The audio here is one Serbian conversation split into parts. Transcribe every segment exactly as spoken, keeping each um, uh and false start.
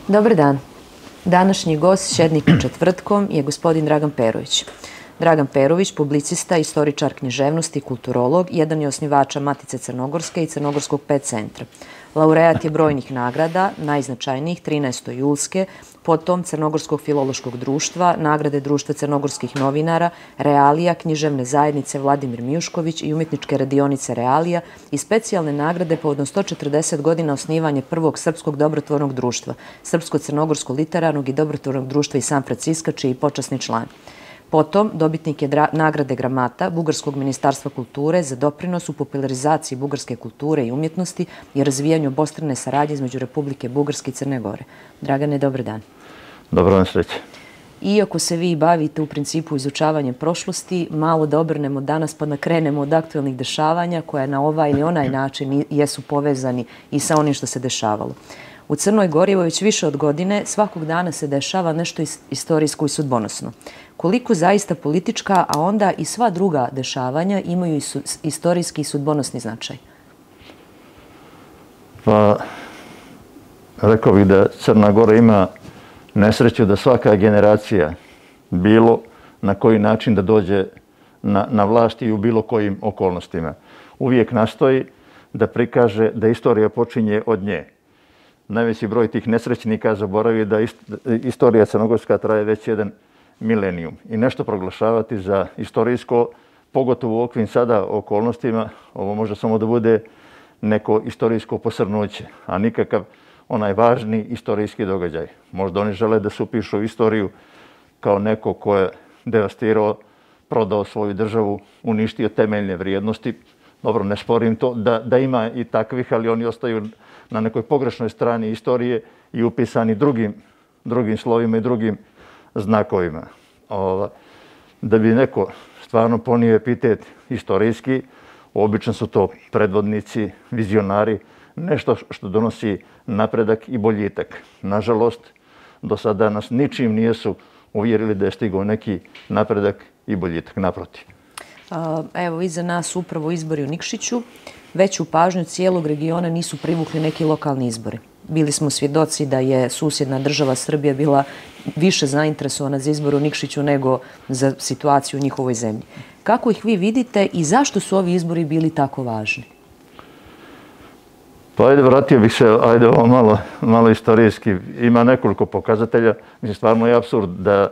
Dobar dan. Današnji gost Šednikom četvrtkom je gospodin Dragan Perović. Dragan Perović, publicista, istoričar književnosti, kulturolog, jedan je osnivača Matice Crnogorske i Crnogorskog pet centra. Laureat je brojnih nagrada, najznačajnijih trinaesto julske, potom Crnogorskog filološkog društva, nagrade Društva crnogorskih novinara, Realija, književne zajednice Vladimir Mijušković i umjetničke radionice Realija i specijalne nagrade povodom sto četrdeset godina osnivanja prvog srpskog dobrotvornog društva, Srpsko-crnogorsko literarnog i dobrotvornog društva iz San Franciska, čiji je počasni član. Potom, dobitnik je nagrade Gramata Bugarskog ministarstva kulture za doprinos u popularizaciji bugarske kulture i umjetnosti i razvijanju obostrane saradnje između Republike Bugarske i Crne Gore. Dragane, dobar dan. Dobro vam sreće. Iako se vi bavite u principu izučavanjem prošlosti, malo da obrnemo danas pa da krenemo od aktualnih dešavanja koja na ovaj ili onaj način jesu povezani i sa onim što se dešavalo. U Crnoj Gori već više od godine svakog dana se dešava nešto istorijsko i sudbonosno. Koliko zaista politička, a onda i sva druga dešavanja imaju istorijski i sudbonosni značaj? Pa, rekao bih da Crna Gora ima nesreću da svaka generacija bilo na koji način da dođe na, na vlast i u bilo kojim okolnostima. Uvijek nastoji da prikaže da istorija počinje od nje. Najveći broj tih nesrećnika zaboravi da istorija crnogorska traje već jedan milenijum. I nešto proglašavati za istorijsko, pogotovo u okvim sada okolnostima, ovo može samo da bude neko istorijsko posrnuće, a nikakav onaj važni istorijski događaj. Možda oni žele da se upišu istoriju kao neko ko je devastirao, prodao svoju državu, uništio temeljne vrijednosti. Dobro, ne sporim to da, da ima i takvih, ali oni ostaju na nekoj pogrešnoj strani istorije i upisani drugim, drugim slovima i drugim znakovima. Ova, da bi neko stvarno ponio epitet istorijski, obično su to predvodnici, vizionari, nešto što donosi napredak i boljitak. Nažalost, do sada nas ničim nijesu uvjerili da je stigao neki napredak i boljitak. Naprotiv. Evo, iza nas upravo izbori u Nikšiću. Veću pažnju cijelog regiona nisu privukli neki lokalni izbori. Bili smo svjedoci da je susjedna država Srbija bila više zainteresovana za izbor u Nikšiću nego za situaciju u njihovoj zemlji. Kako ih vi vidite i zašto su ovi izbori bili tako važni? Pa ajde, vratio bih se, ajde ovo malo, malo istorijski. Ima nekoliko pokazatelja. Mislim, stvarno je apsurd da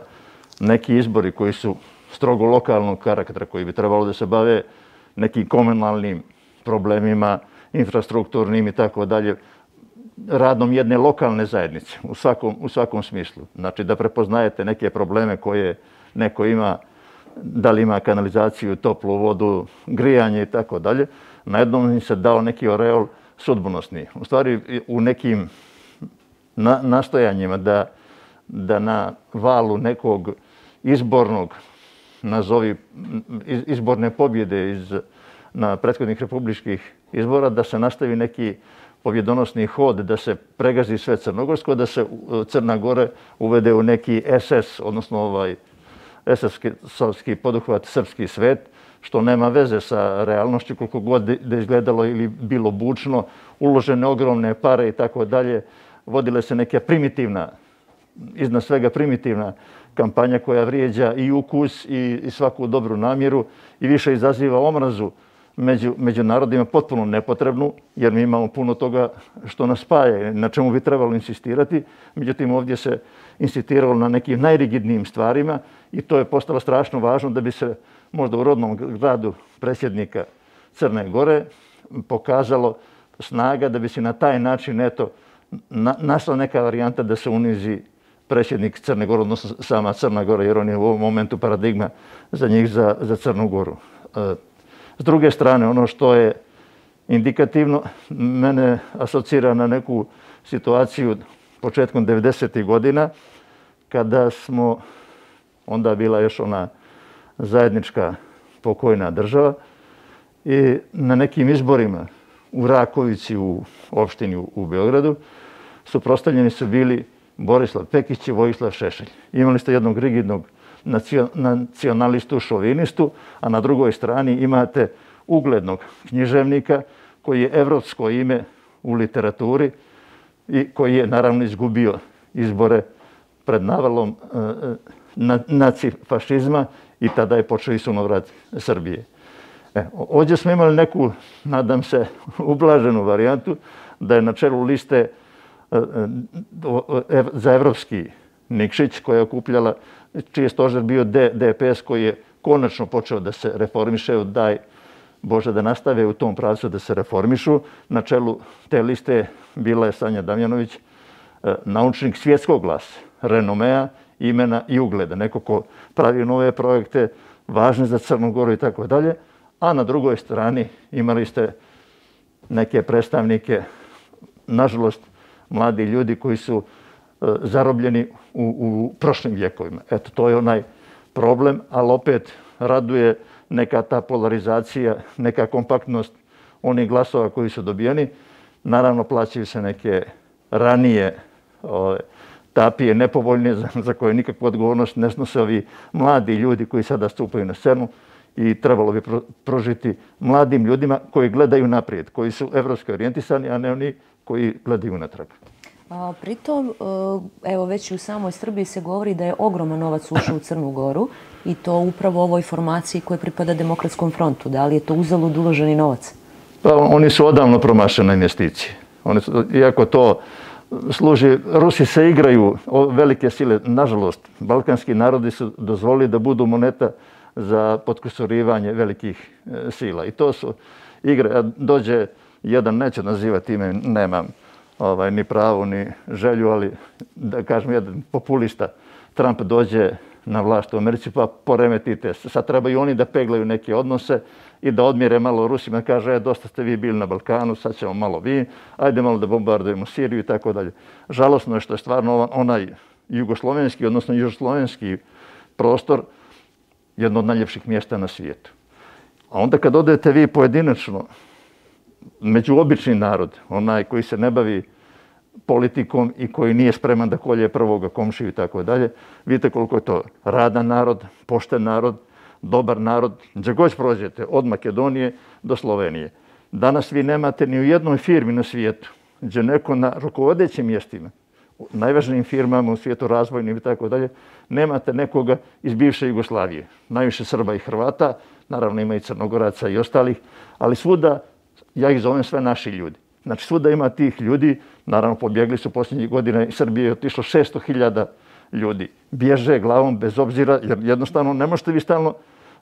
neki izbori koji su strogo lokalnog karaktera, koji bi trebalo da se bave nekim komunalnim problemima, infrastrukturnim i tako dalje, radom jedne lokalne zajednice u svakom, u svakom smislu. Znači da prepoznajete neke probleme koje neko ima, da li ima kanalizaciju, toplu vodu, grijanje i tako dalje. Na jednom im se dao neki oreol sudbonosni. U stvari u nekim na, nastojanjima da, da na valu nekog izbornog, nazovi izborne pobjede iz, na prethodnih republičkih izbora, da se nastavi neki pobjedonosni hod, da se pregazi sve crnogorsko, da se Crna Gore uvede u neki es es, odnosno ovaj es es-ovski poduhvat srpski svet, što nema veze sa realnošću, koliko god da izgledalo ili bilo bučno, uložene ogromne pare i tako dalje, vodile se neka primitivna, iznad svega primitivna kampanja koja vrijeđa i ukus i, i svaku dobru namjeru i više izaziva omrazu među, među narodima, potpuno nepotrebnu, jer mi imamo puno toga što nas spaja, na čemu bi trebalo insistirati. Međutim, ovdje se insistiralo na nekim najrigidnijim stvarima i to je postalo strašno važno da bi se možda u rodnom gradu predsjednika Crne Gore pokazalo snaga da bi se na taj način eto, na, našla neka varijanta da se unizi predsjednik Crne Gore, odnosno sama Crna Gora, jer on je u ovom momentu paradigma za njih, za, za Crnu Goru. S druge strane, ono što je indikativno, mene asocira na neku situaciju početkom devedesetih godina, kada smo, onda bila još ona zajednička pokojna država, i na nekim izborima u Rakovici, u opštini u Beogradu, suprotstavljeni su bili Borislav Pekić i Vojislav Šešelj. Imali ste jednog rigidnog nacionalistu, šovinistu, a na drugoj strani imate uglednog književnika koji je evropsko ime u literaturi i koji je naravno izgubio izbore pred navalom nacifašizma i tada je počeo i sunovrat Srbije. E, ovdje smo imali neku, nadam se, ublaženu varijantu da je na čelu liste za evropski Nikšić, koja je okupljala, čiji je stožer bio D P S, koji je konačno počeo da se reformiše, daj Bože da nastave u tom pravcu da se reformišu. Na čelu te liste bila je Sanja Damjanović, naučnik svjetskog glasa, renomea, imena i ugleda, neko ko pravi nove projekte, važne za Crnu Goru i tako dalje, a na drugoj strani imali ste neke predstavnike, nažalost, mladi ljudi koji su zarobljeni u, u prošlim vjekovima. Eto, to je onaj problem, ali opet raduje neka ta polarizacija, neka kompaktnost onih glasova koji su dobijeni. Naravno, plaćaju se neke ranije ove, tapije nepovoljne za, za koje nikakvu odgovornost ne snose ovi mladi ljudi koji sada stupaju na scenu i trebalo bi pro, prožiti mladim ljudima koji gledaju naprijed, koji su evropski orijentisani, a ne oni koji gledaju natrag. A, pritom, evo već i u samoj Srbiji se govori da je ogroman novac ušao u Crnu Goru i to upravo ovoj formaciji koja pripada Demokratskom frontu. Da li je to uzalud uloženi novac? Pa, oni su odavno promašene investicije. Oni su, iako to služi, Rusi se igraju velike sile. Nažalost, balkanski narodi su dozvolili da budu moneta za potkusurivanje velikih sila. I to su igre. Dođe jedan, neću nazivati ime, nemam ovaj, ni pravo, ni želju, ali da kažem, jedan populista, Trump dođe na vlast u Americi pa poremetite. Sad treba i oni da peglaju neke odnose i da odmjere malo Rusima, kaže, e, dosta ste vi bili na Balkanu, sad ćemo malo vi, ajde malo da bombardujemo Siriju i tako dalje. Žalosno je što je stvarno onaj jugoslovenski, odnosno južoslovenski prostor jedno od najljepših mjesta na svijetu. A onda kad odete vi pojedinačno, među obični narod, onaj koji se ne bavi politikom i koji nije spreman da kolje prvoga komšiju i tako dalje, vidite koliko je to radan narod, pošten narod, dobar narod, gdje god prođete, od Makedonije do Slovenije. Danas vi nemate ni u jednoj firmi na svijetu, gdje neko na rukovodećim mjestima, u najvažnijim firmama u svijetu, razvojnim i tako dalje, nemate nekoga iz bivše Jugoslavije. Najviše Srba i Hrvata, naravno ima i Crnogoraca i ostalih, ali svuda, ja ih zovem sve naši ljudi. Znači, svuda ima tih ljudi, naravno pobjegli su posljednjih godina, iz Srbije je otišlo šesto hiljada ljudi. Bježe glavom bez obzira, jer jednostavno ne možete vi stalno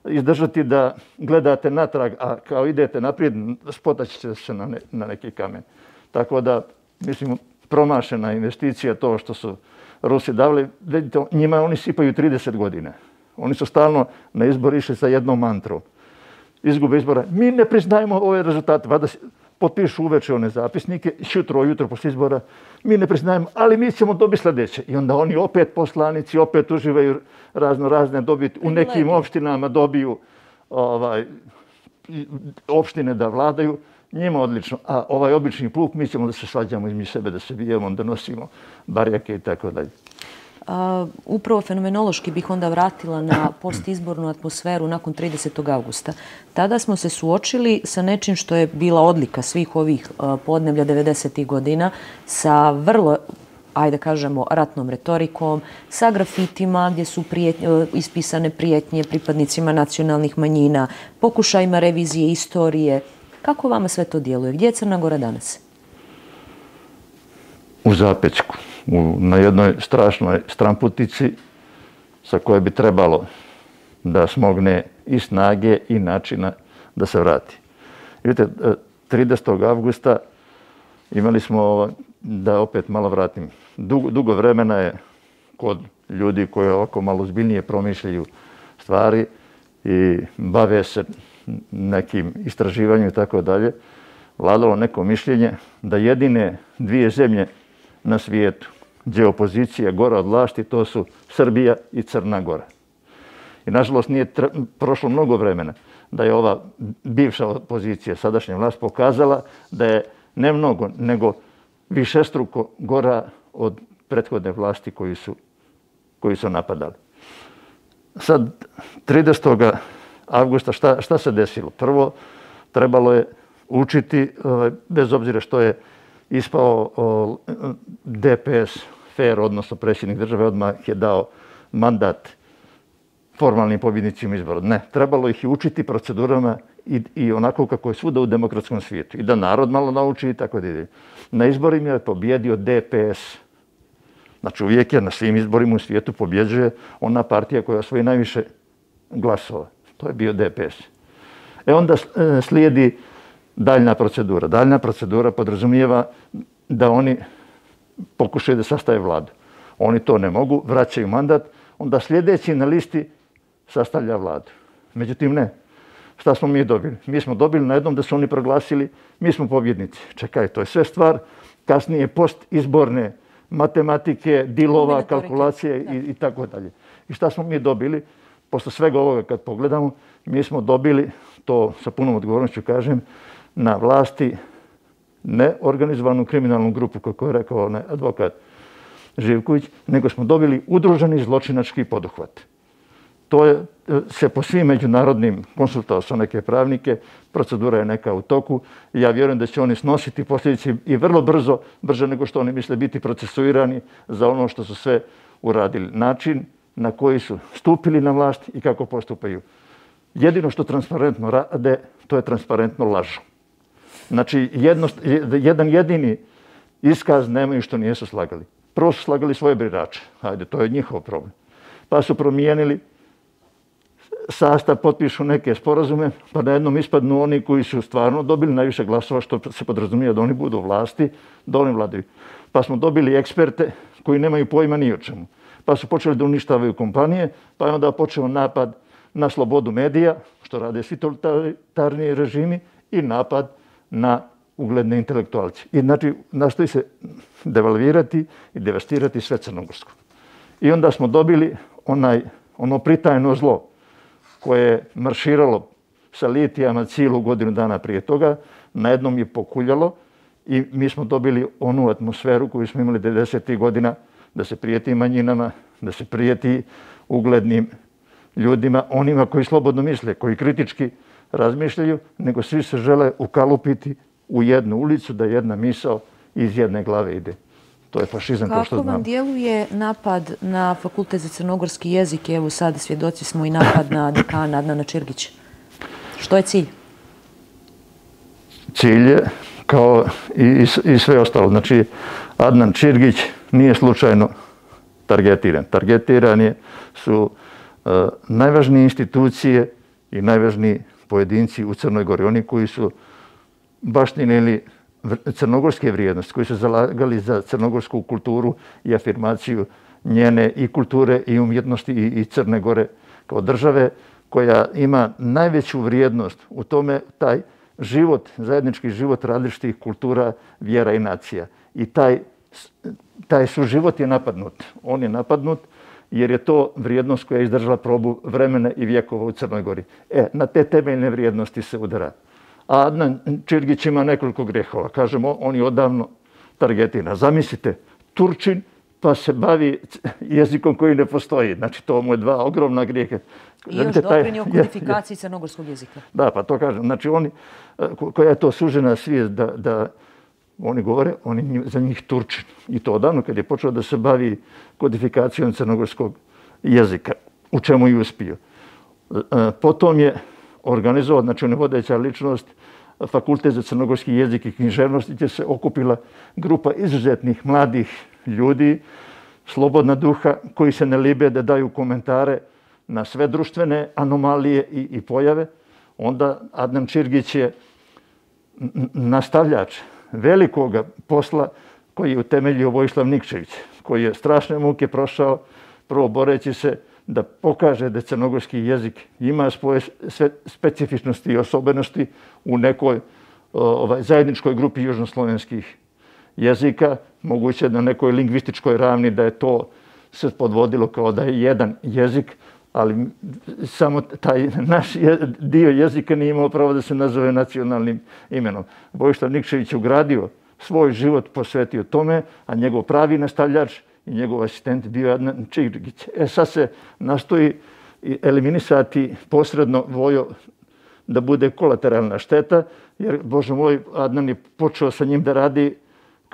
izdržati da gledate natrag, a kao idete naprijed, spotaći će se na, ne, na neki kamen. Tako da, mislim, promašena investicija to što su Rusi davali. Vidite, njima oni sipaju trideset godina. Oni su stalno na izbor išli sa jednom mantrom. Izgube izbora. Mi ne priznajemo ove rezultate. Vada potpišu uveče one zapisnike, jutro, jutro posle izbora. Mi ne priznajemo, ali mi ćemo dobiti sljedeće. I onda oni opet poslanici, opet uživaju razno razne dobiti. U nekim opštinama dobiju ovaj, opštine da vladaju. Njima odlično. A ovaj obični pluk, mi ćemo da se svađamo između sebe, da se bijemo, da nosimo barjake i tako dalje. A, upravo fenomenološki bih onda vratila na postizbornu atmosferu nakon tridesetog avgusta. Tada smo se suočili sa nečim što je bila odlika svih ovih a, podneblja devedesetih godina, sa vrlo, ajde kažemo, ratnom retorikom, sa grafitima gdje su prijetnje, ispisane prijetnje pripadnicima nacionalnih manjina, pokušajima revizije istorije. Kako vama sve to djeluje? Gdje je Crna Gora danas? U zapećku. U, na jednoj strašnoj stramputici sa koje bi trebalo da smogne i snage i načina da se vrati. Vidite, tridesetog avgusta imali smo, da opet malo vratim, dugo, dugo vremena je kod ljudi koji ovako malo zbiljnije promišljaju stvari i bave se nekim istraživanjem i tako dalje, vladalo neko mišljenje da jedine dvije zemlje na svijetu gdje opozicija gora od vlasti, to su Srbija i Crna Gora. I nažalost nije prošlo mnogo vremena da je ova bivša opozicija, sadašnja vlast, pokazala da je ne mnogo, nego višestruko gora od prethodne vlasti koji su, koji su napadali. Sad, tridesetog avgusta, šta, šta se desilo? Prvo, trebalo je učiti, bez obzira što je ispao D P S fair, odnosno predsjednik države odmah je dao mandat formalnim pobjednicima izbora. Ne, trebalo ih i učiti procedurama i, i onako kako je svuda u demokratskom svijetu. I da narod malo nauči i tako da ide. Na izborima je pobjedio D P S. Znači uvijek je na svim izborima u svijetu pobjeđuje ona partija koja osvoji najviše glasova. To je bio D P S. E onda slijedi daljna procedura. Daljna procedura podrazumijeva da oni pokušaju da sastave vladu. Oni to ne mogu, vraćaju mandat, onda sljedeći na listi sastavlja vladu. Međutim, ne. Šta smo mi dobili? Mi smo dobili na jednom da su oni proglasili, mi smo pobjednici. Čekaj, to je sve stvar kasnije postizborne matematike, dilova, kalkulacije i, i tako dalje. I šta smo mi dobili? Posle svega ovoga kad pogledamo, mi smo dobili, to sa punom odgovornošću kažem, na vlasti neorganizovanu kriminalnu grupu, kako je rekao onaj advokat Živković, nego smo dobili udruženi zločinački poduhvat. To je se po svim međunarodnim konsultao sa neke pravnike, procedura je neka u toku i ja vjerujem da će oni snositi posljedice i vrlo brzo, brže nego što oni misle biti procesuirani za ono što su sve uradili. Način na koji su stupili na vlast i kako postupaju. Jedino što transparentno rade, to je transparentno lažu. Znači, jedno, jedan jedini iskaz nemaju što nijesu slagali. Prvo su slagali svoje birače. Hajde, to je njihov problem. Pa su promijenili sastav, potpišu neke sporazume, pa na jednom ispadnu oni koji su stvarno dobili najviše glasova, što se podrazumije da oni budu u vlasti, da oni vladaju. Pa smo dobili eksperte koji nemaju pojma ni o čemu. Pa su počeli da uništavaju kompanije, pa je onda počeo napad na slobodu medija, što rade svi totalitarni režimi, i napad na ugledne intelektualce. I znači nastoji se devalvirati i devastirati sve crnogorsko. I onda smo dobili onaj, ono pritajno zlo koje je marširalo sa litijama cijelu godinu dana prije toga, na jednom je pokuljalo i mi smo dobili onu atmosferu koju smo imali devedesetih godina, da se prijeti manjinama, da se prijeti uglednim ljudima, onima koji slobodno misle, koji kritički razmišljaju, nego svi se žele ukalupiti u jednu ulicu, da jedna misao iz jedne glave ide. To je fašizam, kao što znamo. Kako vam djeluje napad na Fakultet za crnogorski jezik? Evo sad svjedoci smo i napad na dekana Adnana Čirgića. Što je cilj? Cilj je, kao i, i sve ostalo, znači Adnan Čirgić nije slučajno targetiran. Targetiran je su uh, najvažnije institucije i najvažniji pojedinci u Crnoj Gori. Oni koji su baštinili crnogorske vrijednosti, koji su zalagali za crnogorsku kulturu i afirmaciju njene i kulture i umjetnosti i, i Crne Gore kao države, koja ima najveću vrijednost u tome taj život, zajednički život različitih kultura, vjera i nacija. I taj, taj suživot je napadnut. On je napadnut jer je to vrijednost koja je izdržala probu vremena i vjekova u Crnoj Gori. E, na te temeljne vrijednosti se udara. A Adnan Čirgić ima nekoliko grehova. Kažemo, on je odavno targetina. Zamislite, Turčin pa se bavi jezikom koji ne postoji. Znači, to mu je dva ogromna grijeha. I još doprinio kodifikaciji crnogorskog jezika. Da, pa to kažem. Znači, oni, koja je to sužena svijest da, da oni govore, oni za njih Turčin. I to odavno kad je počeo da se bavi kodifikacijom crnogorskog jezika, u čemu i uspio. Potom je organizovao, znači on je vodeća ličnost, Fakultet za crnogorski jezik i književnost, gdje se okupila grupa izuzetnih mladih ljudi, slobodna duha, koji se ne libe da daju komentare na sve društvene anomalije i, i pojave. Onda Adnan Čirgić je nastavljač velikoga posla koji je utemeljio Vojislav Nikčević, koji je strašne muke prošao, prvo boreći se da pokaže da crnogorski jezik ima svoje specifičnosti i osobenosti u nekoj ovaj, zajedničkoj grupi južnoslovenskih jezika, moguće na nekoj lingvističkoj ravni da je to se podvodilo kao da je jedan jezik, ali samo taj naš dio jezika nije imao pravo da se nazove nacionalnim imenom. Vojislav Nikčević je ugradio svoj život, posvetio tome, a njegov pravi nastavljač i njegov asistent bio Adnan Čirgić. E sad se nastoji eliminisati posredno Vojo da bude kolateralna šteta, jer, Bože moj, Adnan je počeo sa njim da radi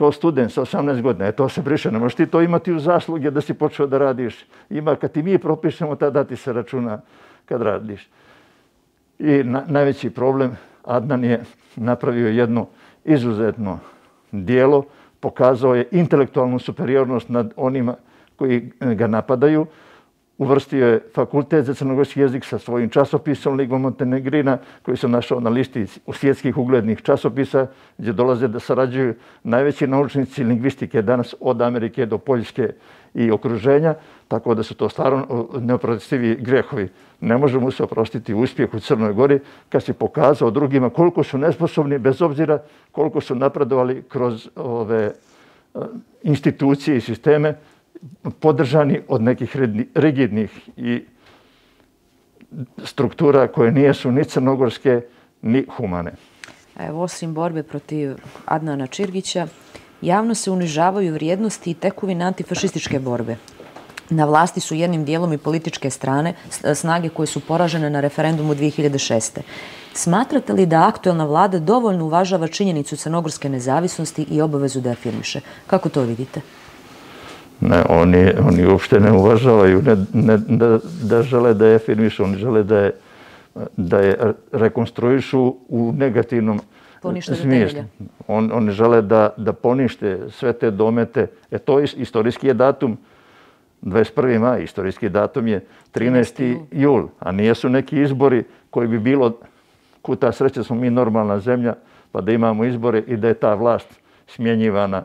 kao student sa osamnaest godina, e to se briše, ne možeš ti to imati u zasluge da si počeo da radiš. Ima, kad ti mi propišemo, tada ti se računa kad radiš. I na, najveći problem, Adnan je napravio jedno izuzetno dijelo, pokazao je intelektualnu superiornost nad onima koji ga napadaju, uvrstio je fakultet za crnogorski jezik sa svojim časopisom Lingua Montenegrina, koji sam našao na listi svjetskih uglednih časopisa, gdje dolaze da sarađuju najveći naučnici lingvistike danas od Amerike do Poljske i okruženja, tako da su to stvarno neoprostivi grehovi. Ne možemo se oprostiti uspjeh u Crnoj Gori kad si pokazao drugima koliko su nesposobni, bez obzira koliko su napredovali kroz ove institucije i sisteme, podržani od nekih rigidnih i struktura koje nijesu ni crnogorske, ni humane. Evo, osim borbe protiv Adnana Čirgića, javno se unižavaju vrijednosti i tekovine antifašističke borbe. Na vlasti su jednim dijelom i političke strane, snage koje su poražene na referendumu dvije hiljade šeste. Smatrate li da aktuelna vlada dovoljno uvažava činjenicu crnogorske nezavisnosti i obavezu da afirmiše? Kako to vidite? Ne, oni, oni uopšte ne uvažavaju, ne, ne, da, da žele da je afirmišu, oni žele da je, da je rekonstruišu u negativnom smislu. On, oni žele da, da ponište sve te domete. E to je, istorijski je datum dvadeset prvi maj, istorijski datum je trinaesti jul, a nijesu neki izbori koji bi bilo, kuta sreće smo mi normalna zemlja, pa da imamo izbore i da je ta vlast smjenjivana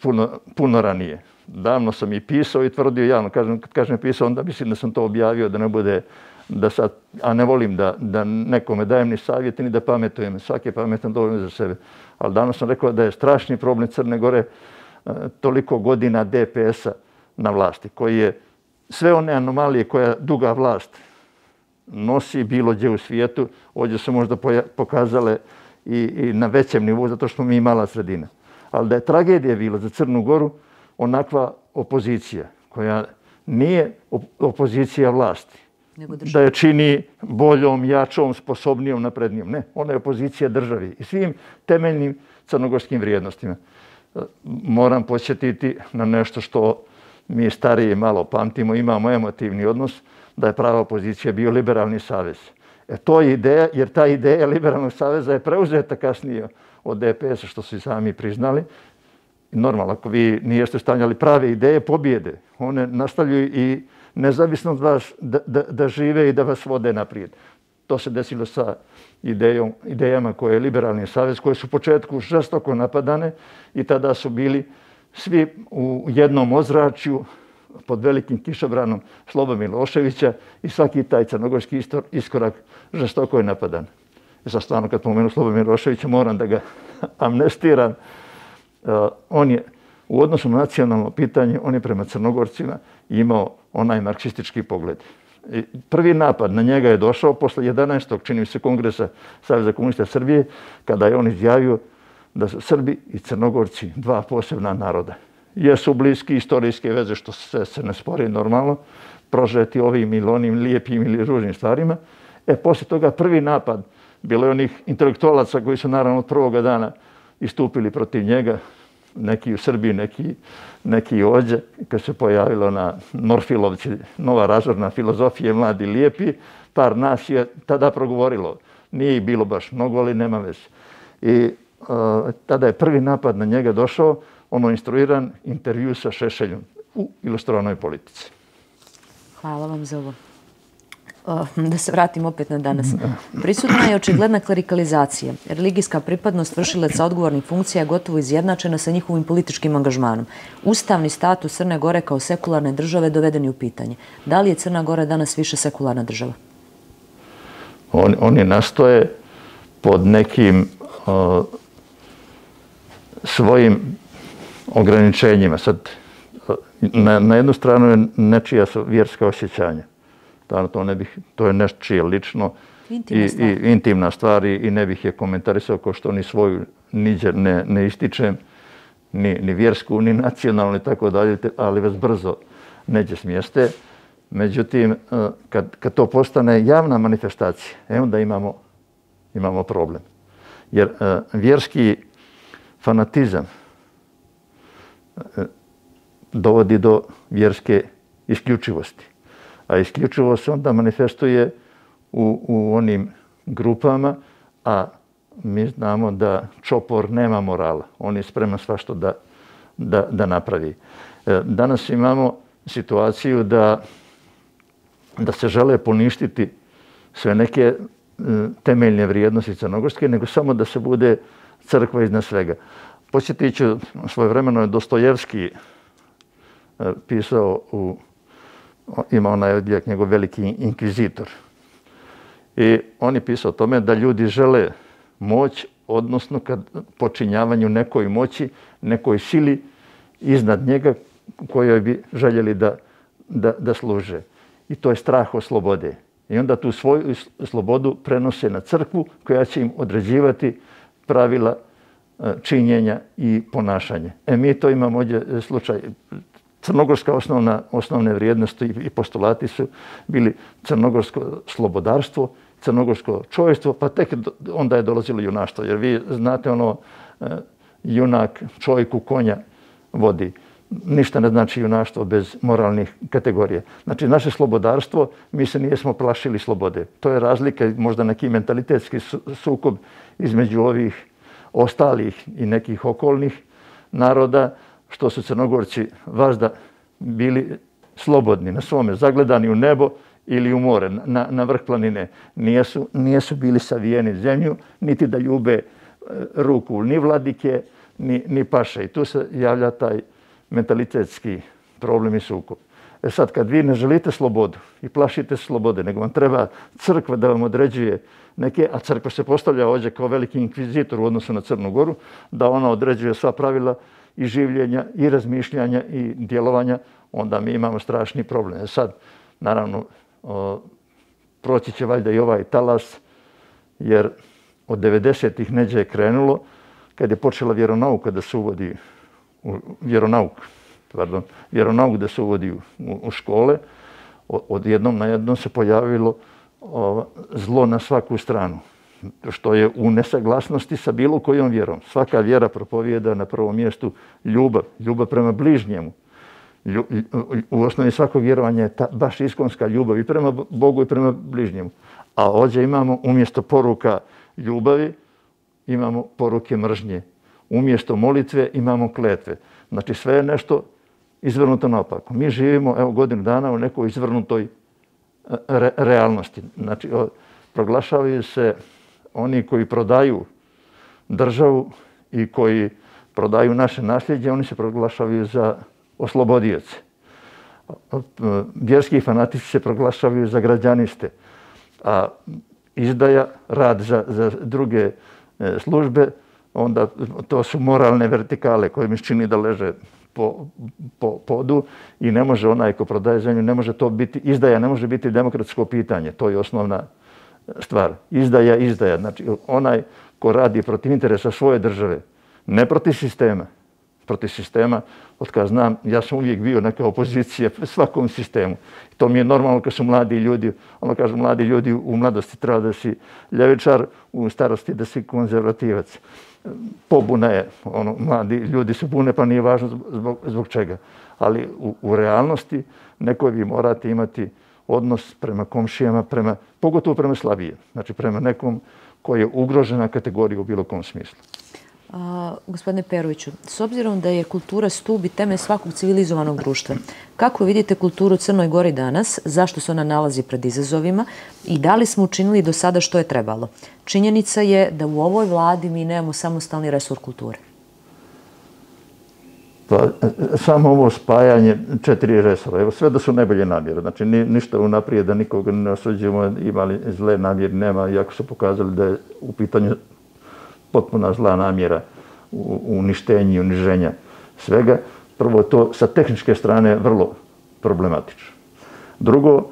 puno, puno ranije. Davno sam i pisao i tvrdio javno, kažem, kad kažem pisao, onda mislim da sam to objavio, da ne bude, da sad, a ne volim da, da nekome dajem ni savjete, ni da pametujem. Svaki je pametan dovoljno za sebe. Ali davno sam rekao da je strašni problem Crne Gore toliko godina D P S-a na vlasti, koji je sve one anomalije koja duga vlast nosi bilo gdje u svijetu, ovdje su možda pokazale i, i na većem nivou, zato što smo mi mala sredina. Ali da je tragedija bila za Crnu Goru onakva opozicija, koja nije opozicija vlasti, da je čini boljom, jačom, sposobnijom, naprednijom. Ne, ona je opozicija državi i svim temeljnim crnogorskim vrijednostima. Moram podsjetiti na nešto što mi stariji malo pamtimo, imamo emotivni odnos, da je prava opozicija bio Liberalni savez. E to je ideja, jer ta ideja Liberalnog saveza je preuzeta kasnije od D P S-a, što su i sami priznali. Normalno, ako vi nijeste stavljali prave ideje, pobjede. One nastavljaju i nezavisno od vas da, da, da žive i da vas vode naprijed. To se desilo sa idejom, idejama koje je Liberalni savez, koje su u početku žestoko napadane i tada su bili svi u jednom ozračju pod velikim kišobranom Slobodana Miloševića i svaki taj crnogorski iskorak žestoko je napadan. Za stvarno, kad pomenu Slobodana Miloševića, moram da ga amnestiram. Uh, on je u odnosu na nacionalno pitanje, on je prema Crnogorcima imao onaj marksistički pogled. I prvi napad na njega je došao posle jedanaestog čini mi se kongresa Saveza komunista Srbije, kada je on izjavio da su Srbi i Crnogorci dva posebna naroda. Jesu bliski istorijske veze, što se, se ne spori normalno, prožeti ovim ili onim lijepim ili ružnim stvarima. E, poslije toga prvi napad bilo je onih intelektualaca koji su naravno od prvoga dana istupili protiv njega, neki u Srbiji, neki, neki ovdje, kad se pojavilo na Norfilovci nova razorna filozofija, mladi lijepi, par nas je tada progovorilo. Nije ih bilo baš mnogo, ali nema veze. I uh, tada je prvi napad na njega došao, ono instruiran intervju sa Šešeljom u Ilustrovanoj politici. Hvala vam za ovo. Da se vratim opet na danas. Prisutna je očigledna klerikalizacija. Religijska pripadnost vršilaca odgovornih funkcija je gotovo izjednačena sa njihovim političkim angažmanom. Ustavni status Crne Gore kao sekularne države doveden je u pitanje. Da li je Crna Gora danas više sekularna država? On, oni nastoje pod nekim uh, svojim ograničenjima. Sad, na, na jednu stranu je nečija su vjerska osjećanja. To, ne bih, to je nečije lično intimna i, stvar. i intimna stvar i, i ne bih je komentarisao kao što ni svoju niđe ne, ne ističem, ni, ni vjersku, ni nacionalnu i tako dalje, ali vas brzo neće smjeste. Međutim, kad, kad to postane javna manifestacija, e onda imamo, imamo problem. Jer vjerski fanatizam dovodi do vjerske isključivosti. A isključivost se onda manifestuje u, u onim grupama, a mi znamo da čopor nema morala. On je spreman svašto da, da, da napravi. Danas imamo situaciju da, da se žele poništiti sve neke temeljne vrijednosti crnogorske, nego samo da se bude crkva iznad svega. Podsjetit ću, svojevremeno je Dostojevski pisao, u, ima onaj odjek njegov Veliki inkvizitor. I on je pisao o tome da ljudi žele moć, odnosno kad počinjavanju nekoj moći, nekoj sili iznad njega kojoj bi željeli da, da, da služe. I to je strah od slobode. I onda tu svoju slobodu prenose na crkvu koja će im određivati pravila činjenja i ponašanja. E mi to imamo ovdje slučaj. Crnogorska osnovna, osnovne vrijednosti i postulati su bili crnogorsko slobodarstvo, crnogorsko čovječstvo, pa tek onda je dolazilo junaštvo. Jer vi znate ono, junak čovjeku konja vodi. Ništa ne znači junaštvo bez moralnih kategorija. Znači, naše slobodarstvo, mi se nijesmo plašili slobode. To je razlika, možda neki mentalitetski sukob između ovih ostalih i nekih okolnih naroda, što su Crnogorci vazda bili slobodni na svome, zagledani u nebo ili u more, na, na vrh planine. Nijesu, nijesu bili savijeni zemlju, niti da ljube ruku ni vladike, ni, ni paše. I tu se javlja taj mentalitetski problem i sukob. E sad, kad vi ne želite slobodu i plašite slobode, nego vam treba crkva da vam određuje neke, a crkva se postavlja ovdje kao veliki inkvizitor u odnosu na Crnu Goru, da ona određuje sva pravila i življenja, i razmišljanja, i djelovanja, onda mi imamo strašni problem. E sad, naravno, o, proći će valjda i ovaj talas, jer od devedesetih neđe je krenulo, kad je počela vjeronauka da se uvodi u vjeronauk, pardon, vjeronauk da se uvodi u, u škole, od jednom na jednom se pojavilo o, zlo na svaku stranu, što je u nesaglasnosti sa bilo kojom vjerom. Svaka vjera propovijeda na prvom mjestu ljubav, ljubav prema bližnjemu. Lju, u osnovi svakog vjerovanja je ta baš iskonska ljubav i prema Bogu i prema bližnjemu. A ovdje imamo umjesto poruka ljubavi, imamo poruke mržnje. Umjesto molitve imamo kletve. Znači sve je nešto izvrnuto naopako. Mi živimo evo godinu dana u nekoj izvrnutoj re, realnosti. Znači proglašavaju se oni koji prodaju državu i koji prodaju naše nasljeđe, oni se proglašavaju za oslobodioce. Vjerski fanatici se proglašavaju za građaniste, a izdaja, rad za, za druge službe, onda to su moralne vertikale koje mi čini da leže po, po podu i ne može onaj ko prodaje zemlju, ne može to biti, izdaja ne može biti demokratsko pitanje, to je osnovna stvar. Izdaja, izdaja, znači onaj ko radi protiv interesa svoje države, ne protiv sistema, protiv sistema, od kada znam, ja sam uvijek bio neka opozicija svakom sistemu. To mi je normalno kad su mladi ljudi, ono kažu mladi ljudi u mladosti treba da si ljevičar, u starosti da si konzervativac. Pobuna je, ono, mladi ljudi se bune pa nije važno zbog, zbog čega. Ali u, u realnosti neko vi morate imati odnos prema komšijama, prema, pogotovo prema slabije. Znači prema nekom koji je ugrožena kategorija u bilo kom smislu. A, gospodine Peroviću, s obzirom da je kultura stup i temelj svakog civilizovanog društva, kako vidite kulturu u Crnoj Gori danas, zašto se ona nalazi pred izazovima i da li smo učinili do sada što je trebalo? Činjenica je da u ovoj vladi mi nemamo samostalni resor kulture. Pa, samo ovo spajanje četiri resora, evo sve da su najbolje namjere, znači ni, ništa unaprijed da nikoga ne osuđujemo, imali zle namjere, nema, iako su pokazali da je u pitanju potpuna zla namjera u uništenju i uniženja svega. Prvo, to sa tehničke strane vrlo problematično. Drugo,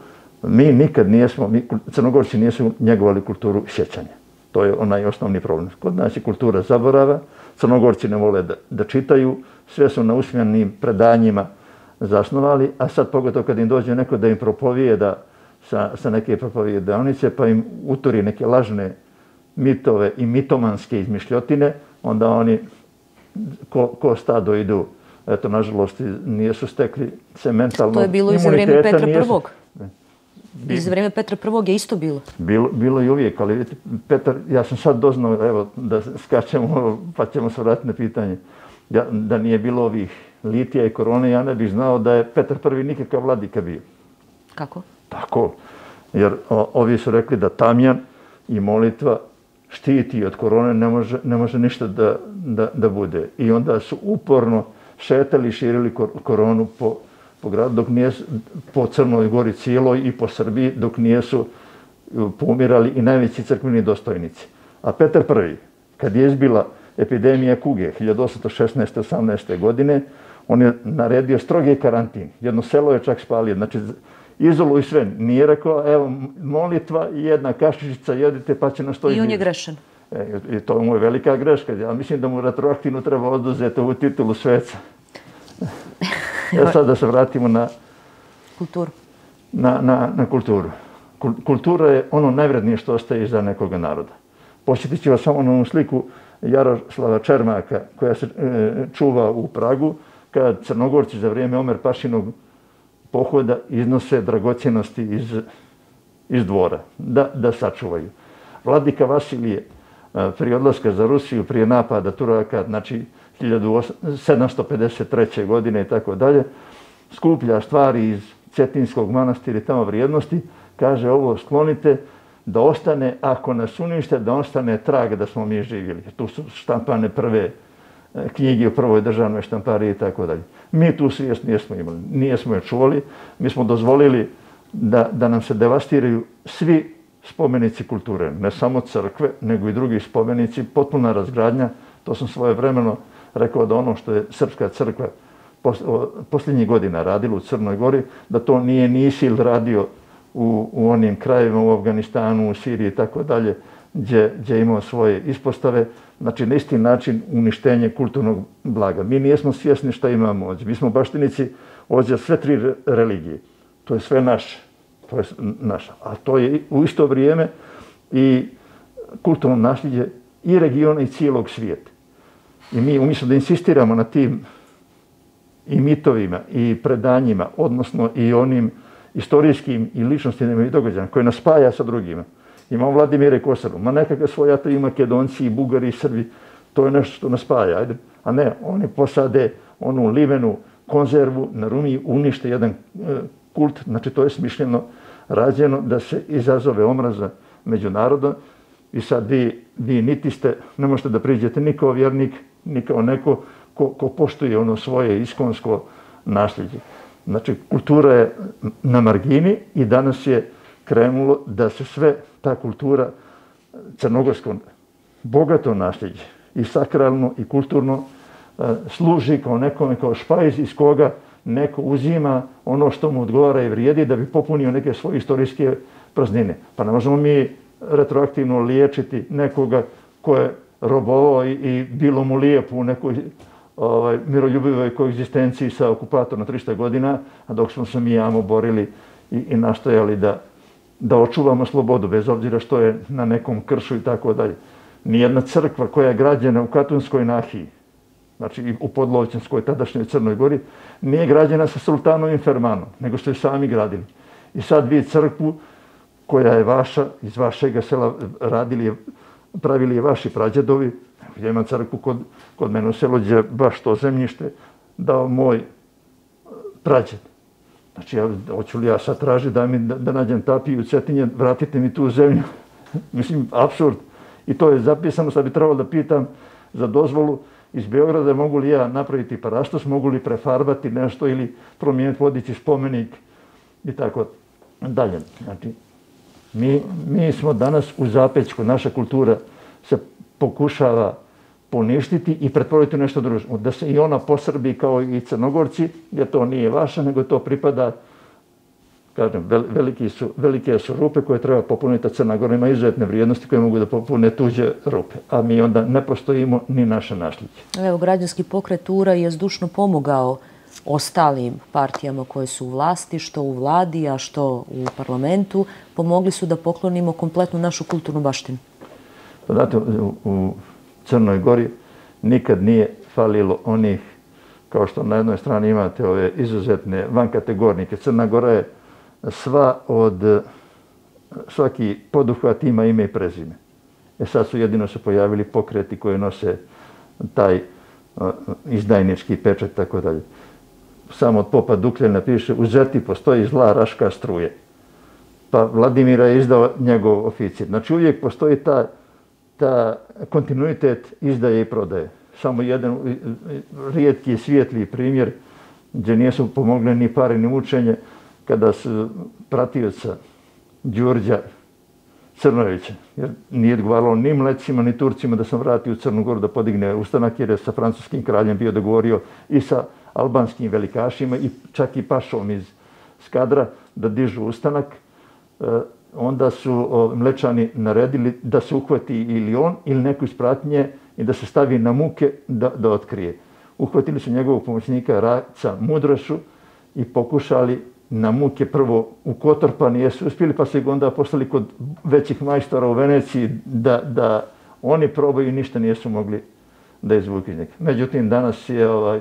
mi nikad nijesmo, mi Crnogorci nijesu njegovali kulturu sjećanja. To je onaj osnovni problem. Kod nas je kultura zaborava, Crnogorci ne vole da, da čitaju, sve su na usmenim predanjima zasnovali, a sad pogotovo kad im dođe neko da im propovijeda sa, sa neke propovijedanice, pa im uturi neke lažne mitove i mitomanske izmišljotine, onda oni ko, ko stado idu eto, nažalost, nijesu stekli se mentalno To je bilo i za vrijeme Petra Prvog. I za vrijeme Petra Prvog je isto bilo. Bilo, bilo i uvijek, ali vidite, Petar, ja sam sad doznao, evo, da skačemo, pa ćemo se vratiti na pitanje, ja, da nije bilo ovih litija i korone, ja ne bih znao da je Petar Prvi nikakav vladika bio. Kako? Tako, jer o, ovi su rekli da tamjan i molitva štiti od korone, ne može, ne može ništa da, da, da bude. I onda su uporno šetali i širili koronu po, po gradu, dok nije, po Crnoj Gori cijeloj i po Srbiji, dok nijesu pomirali i najveći crkveni dostojnici. A Petar Prvi, kad je izbila epidemija kuge hiljadu osamsto šesnaeste osamnaeste godine, on je naredio strogi karantin. Jedno selo je čak spalio. Znači, izoluj sve. Nije rekao, evo, molitva i jedna kašičica, jedite pa će nas to izbiti. I on je grešan. E, I to mu je velika greška. Ja mislim da mu retroaktivno treba oduzeti ovu titulu sveca. E sad da se vratimo na kulturu. Na, na, na kulturu. Kultura je ono najvrednije što ostaje iza nekoga naroda. Posjetit ću vas samo na onu sliku Jaroslava Čermaka koja se e, čuva u Pragu, kad Crnogorci za vrijeme Omer Pašinog pohoda iznose dragocjenosti iz, iz dvora, da, da sačuvaju. Vladika Vasilije prije odlaska za Rusiju, prije napada Turaka, znači hiljadu sedamsto pedeset treće. godine i tako dalje, skuplja stvari iz Cetinskog manastira i tamo vrijednosti, kaže ovo sklonite da ostane, ako nas unište, da ostane trag da smo mi živjeli. Tu su štampane prve knjige u prvoj državnoj štampariji i tako dalje. Mi tu svijest nijesmo imali, nijesmo je čuvali, mi smo dozvolili da, da nam se devastiraju svi spomenici kulture, ne samo crkve, nego i drugi spomenici, potpuna razgradnja. To sam svojevremeno rekao da ono što je Srpska crkva posljednjih godina radila u Crnoj Gori, da to nije ni ISIL radio u, u onim krajevima u Afganistanu, u Siriji i tako dalje, gdje, gdje je imao svoje ispostave. Znači, na isti način uništenje kulturnog blaga. Mi nijesmo svjesni šta imamo ovdje. Mi smo baštinici ovdje sve tri religije. To je sve naše. To je naša. A to je u isto vrijeme i kulturno nasljeđe i regiona i cijelog svijeta. I mi umjesto da insistiramo na tim i mitovima i predanjima, odnosno i onim istorijskim i ličnostima i događajima koje nas spaja sa drugima. Imamo Vladimira i Kosaru, ma nekakve svoje i Makedonci, i Bugari, i Srbi, to je nešto što nas spaja. Ajde. A ne, oni posade onu livenu konzervu na Rumi, unište jedan kult, znači to je smišljeno rađeno da se izazove omraza među narodom i sad vi, vi niti ste, ne možete da priđete ni kao vjernik, ni kao neko ko, ko poštuje ono svoje iskonsko nasljeđe. Znači, kultura je na margini i danas je krenulo da se sve ta kultura crnogorsko bogato nasljeđe i sakralno i kulturno služi kao nekome, kao špajz iz koga neko uzima ono što mu odgovara i vrijedi da bi popunio neke svoje istorijske praznine. Pa ne možemo mi retroaktivno liječiti nekoga ko je robovao i, i bilo mu lijepo u nekoj ovaj, miroljubivoj koegzistenciji sa okupatorom na tristo godina, a dok smo se mi jamo borili i, i nastojali da, da očuvamo slobodu, bez obzira što je na nekom kršu i tako dalje. Nijedna crkva koja je građena u Katunskoj nahiji, znači u Podlovćanskoj, tadašnjoj Crnoj Gori, nije građena sa sultanovim fermanom, nego ste sami gradili. I sad vi crkvu koja je vaša, iz vašeg sela radili, pravili je vaši prađedovi. Ja imam crkvu kod, kod mene u selu gdje baš to zemljište dao moj prađed. Znači, ja, hoću li ja sad tražiti da, mi, da, da nađem tapiju u Cetinje, vratite mi tu zemlju. Mislim, apsurd. I to je zapisano, sad bi trebalo da pitam za dozvolu iz Beograda, mogu li ja napraviti parastos, mogu li prefarbati nešto ili promijeniti, podići spomenik i tako dalje. Znači, mi, mi smo danas u zapećku, naša kultura se pokušava poništiti i pretvoriti u nešto drugo. Da se i ona posrbi kao i Crnogorci, jer to nije vaša, nego to pripada, kažem, veliki su, velike su rupe koje treba popuniti, a Crna Gora ima izuzetne vrijednosti koje mogu da popune tuđe rupe, a mi onda ne postojimo ni naše nasljeđe. Evo, građanski pokret U R A je zdušno pomogao ostalim partijama koje su u vlasti, što u vladi, a što u parlamentu. Pomogli su da poklonimo kompletnu našu kulturnu baštinu. Pa znate, u Crnoj Gori nikad nije falilo onih, kao što na jednoj strani imate ove izuzetne vankategornike. Crna Gora je sva od, svaki poduhvat ima ime i prezime. E sad su jedino se pojavili pokreti koji nose taj izdajnički pečat i tako dalje. Samo od popa Dukljana piše u Zeti postoji zla raška struje. Pa Vladimira je izdao njegov oficir. Znači uvijek postoji ta, ta kontinuitet izdaje i prodaje. Samo jedan rijetki svijetli primjer gdje nisu pomogle ni pare ni učenje kada su pratioca Đurđa Crnojevića, jer nije odgovaralo ni Mlecima ni Turcima da sam vratio u Crnu Goru da podigne ustanak, jer je sa francuskim kraljem bio dogovorio i sa albanskim velikašima i čak i pašom iz Skadra da dižu ustanak. Onda su Mlečani naredili da se uhvati ili on ili neko iz pratnje i da se stavi na muke da, da otkrije. Uhvatili su njegovog pomoćnika Raca Mudrašu i pokušali na muke prvo u Kotorpani, jesu uspjeli, pa su ih onda poslali kod većih majstora u Veneciji da, da oni probaju i ništa nisu mogli da izvuku iz njega. Međutim, danas je ovaj,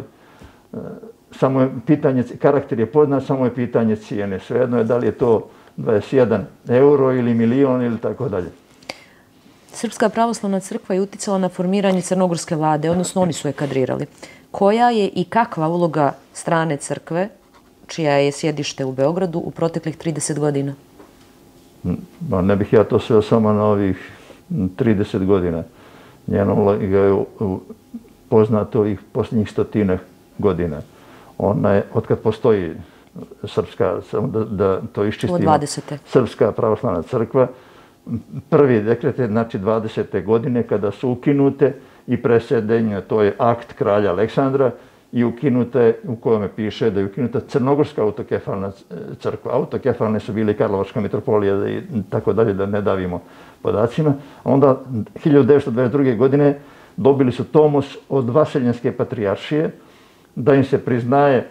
samo je pitanje, karakter je poznat, samo je pitanje cijene. Svejedno je da li je to dvadeset jedan euro ili milion ili tako dalje. Srpska pravoslavna crkva je uticala na formiranje crnogorske vlade, odnosno oni su je kadrirali. Koja je i kakva uloga strane crkve, čija je sjedište u Beogradu, u proteklih trideset godina? Ma ne bih ja to sveo samo na ovih trideset godina. Njena uloga je poznato ovih posljednjih stotinak godina. Ona je, otkad postoji srpska, samo da, da to iščistimo, Srpska pravoslavna crkva, prvi dekret je znači dvadesete godine kada su ukinute i presedenje, to je akt kralja Aleksandra, i ukinute, u kojome piše da je ukinuta Crnogorska autokefalna crkva. Autokefalne su bili Karlovačka mitropolija i tako dalje, da ne davimo podacima. Onda hiljadu devetsto dvadeset druge. godine dobili su tomos od Vaseljenske patrijaršije da im se priznaje,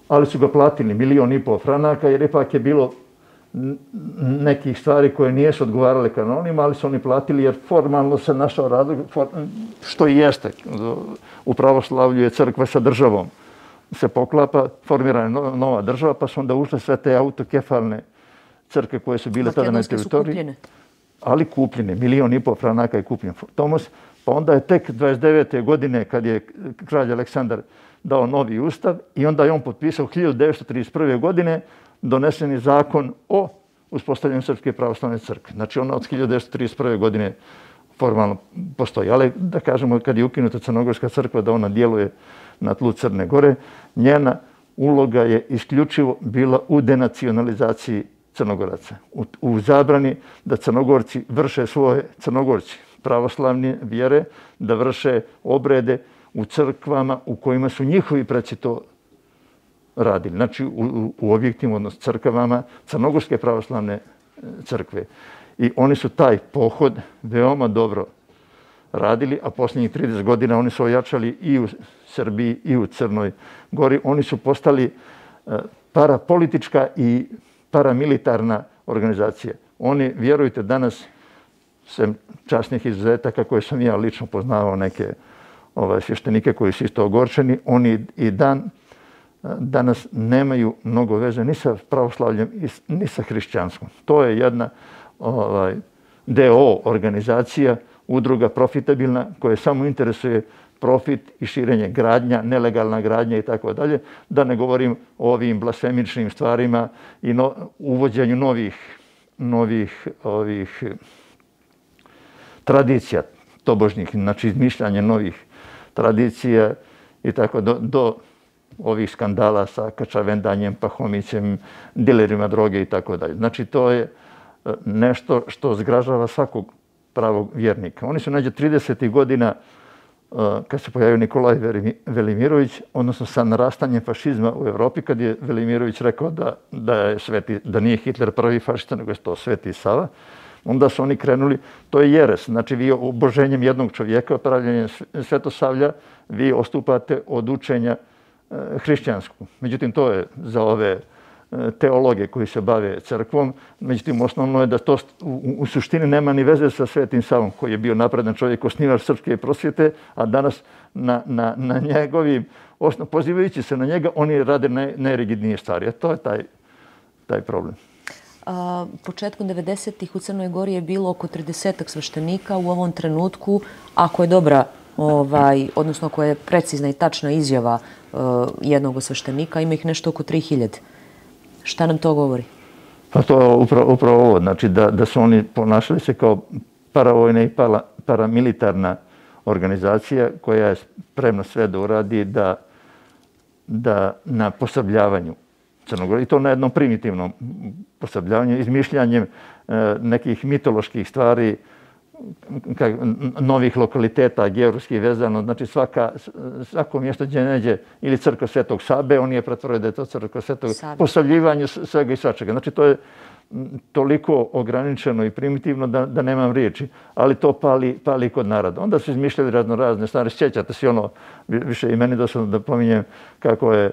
ali su ga platili milion i pol franaka, jer ipak je bilo nekih stvari koje nijesu odgovarale kanonima, ali su oni platili jer formalno se našao razlog, što i jeste. U pravoslavlju je crkva sa državom se poklapa, formirana je nova država, pa su onda ušle sve te autokefalne crkve koje su bile tada na teritoriji. Ali kupljene, milion i pol franaka je kupljen tomos. Pa onda je tek dvadeset devete. godine kad je kralj Aleksandar dao novi ustav i onda je on potpisao hiljadu devetsto trideset prve. godine donesen je zakon o uspostavljanju Srpske pravoslavne crkve. Znači ona od hiljadu devetsto trideset prve. godine formalno postoji. Ali da kažemo kad je ukinuta Crnogorska crkva da ona djeluje na tlu Crne Gore, njena uloga je isključivo bila u denacionalizaciji Crnogoraca. U, u zabrani da Crnogorci vrše svoje, Crnogorci pravoslavne vjere, da vrše obrede u crkvama u kojima su njihovi preci to radili. Znači u, u objektima, odnosno crkvama Crnogorske pravoslavne crkve. I oni su taj pohod veoma dobro radili, a posljednjih trideset godina oni su ojačali i u Srbiji i u Crnoj Gori. Oni su postali parapolitička i paramilitarna organizacija. Oni, vjerujte, danas, sem časnih izuzetaka koje sam ja lično poznavao, neke ovaj, svještenike koji su isto ogorčeni, oni i dan danas nemaju mnogo veze ni sa pravoslavljem, ni sa hrišćanskom. To je jedna ovaj, D O O organizacija, udruga profitabilna koja samo interesuje profit i širenje gradnja, nelegalna gradnja i tako dalje. Da ne govorim o ovim blasfemičnim stvarima i no, uvođenju novih, novih ovih, tradicija tobožnjih, znači izmišljanje novih tradicija i tako do, do ovih skandala sa Kačavendanjem, Pahomićem, dilerima droge i tako dalje. Znači to je nešto što zgražava svakog pravog vjernika. Oni su neđe tridesetih godina, kad se pojavio Nikolaj Velimirović, odnosno sa narastanjem fašizma u Evropi, kad je Velimirović rekao da, da, je sveti, da nije Hitler prvi fašista, nego je to Sveti Sava, onda su oni krenuli, to je jeres, znači vi oboženjem jednog čovjeka, pravljenjem Svetosavlja, vi ostupate od učenja hrišćanskog. Međutim, to je za ove teologe koji se bave crkvom. Međutim, osnovno je da to u, u suštini nema ni veze sa Svetim Savom, koji je bio napredan čovjek, osnivač srpske prosvjete, a danas na, na, na njegovim, osnov, pozivajući se na njega, oni rade naj, najrigidnije stvari. A to je taj, taj problem. A, početkom devedesetih u Crnoj Gori je bilo oko tridesetak sveštenika. U ovom trenutku, ako je dobra, ovaj, odnosno ako je precizna i tačna izjava uh, jednog sveštenika, ima ih nešto oko tri hiljade. Šta nam to govori? Pa to je upravo, upravo ovo. Znači da, da su oni ponašali se kao paravojna i para, paramilitarna organizacija koja je spremna sve da uradi da, da na posabljavanju Crnogore, i to na jednom primitivnom posabljavanju, izmišljanjem e, nekih mitoloških stvari, kak, novih lokaliteta, geografski vezano. Znači svaka, svako mjesto gdje neđe ili crkva Svetog Sabe, on je pretvorio da je to crkva Svetog Sabe. Posavljivanje svega i svačega. Znači to je toliko ograničeno i primitivno da, da nemam riječi, ali to pali, pali kod naroda. Onda su izmišljali razno razne stvari. Sjećate se ono, više i meni dosadno da pominjem kako je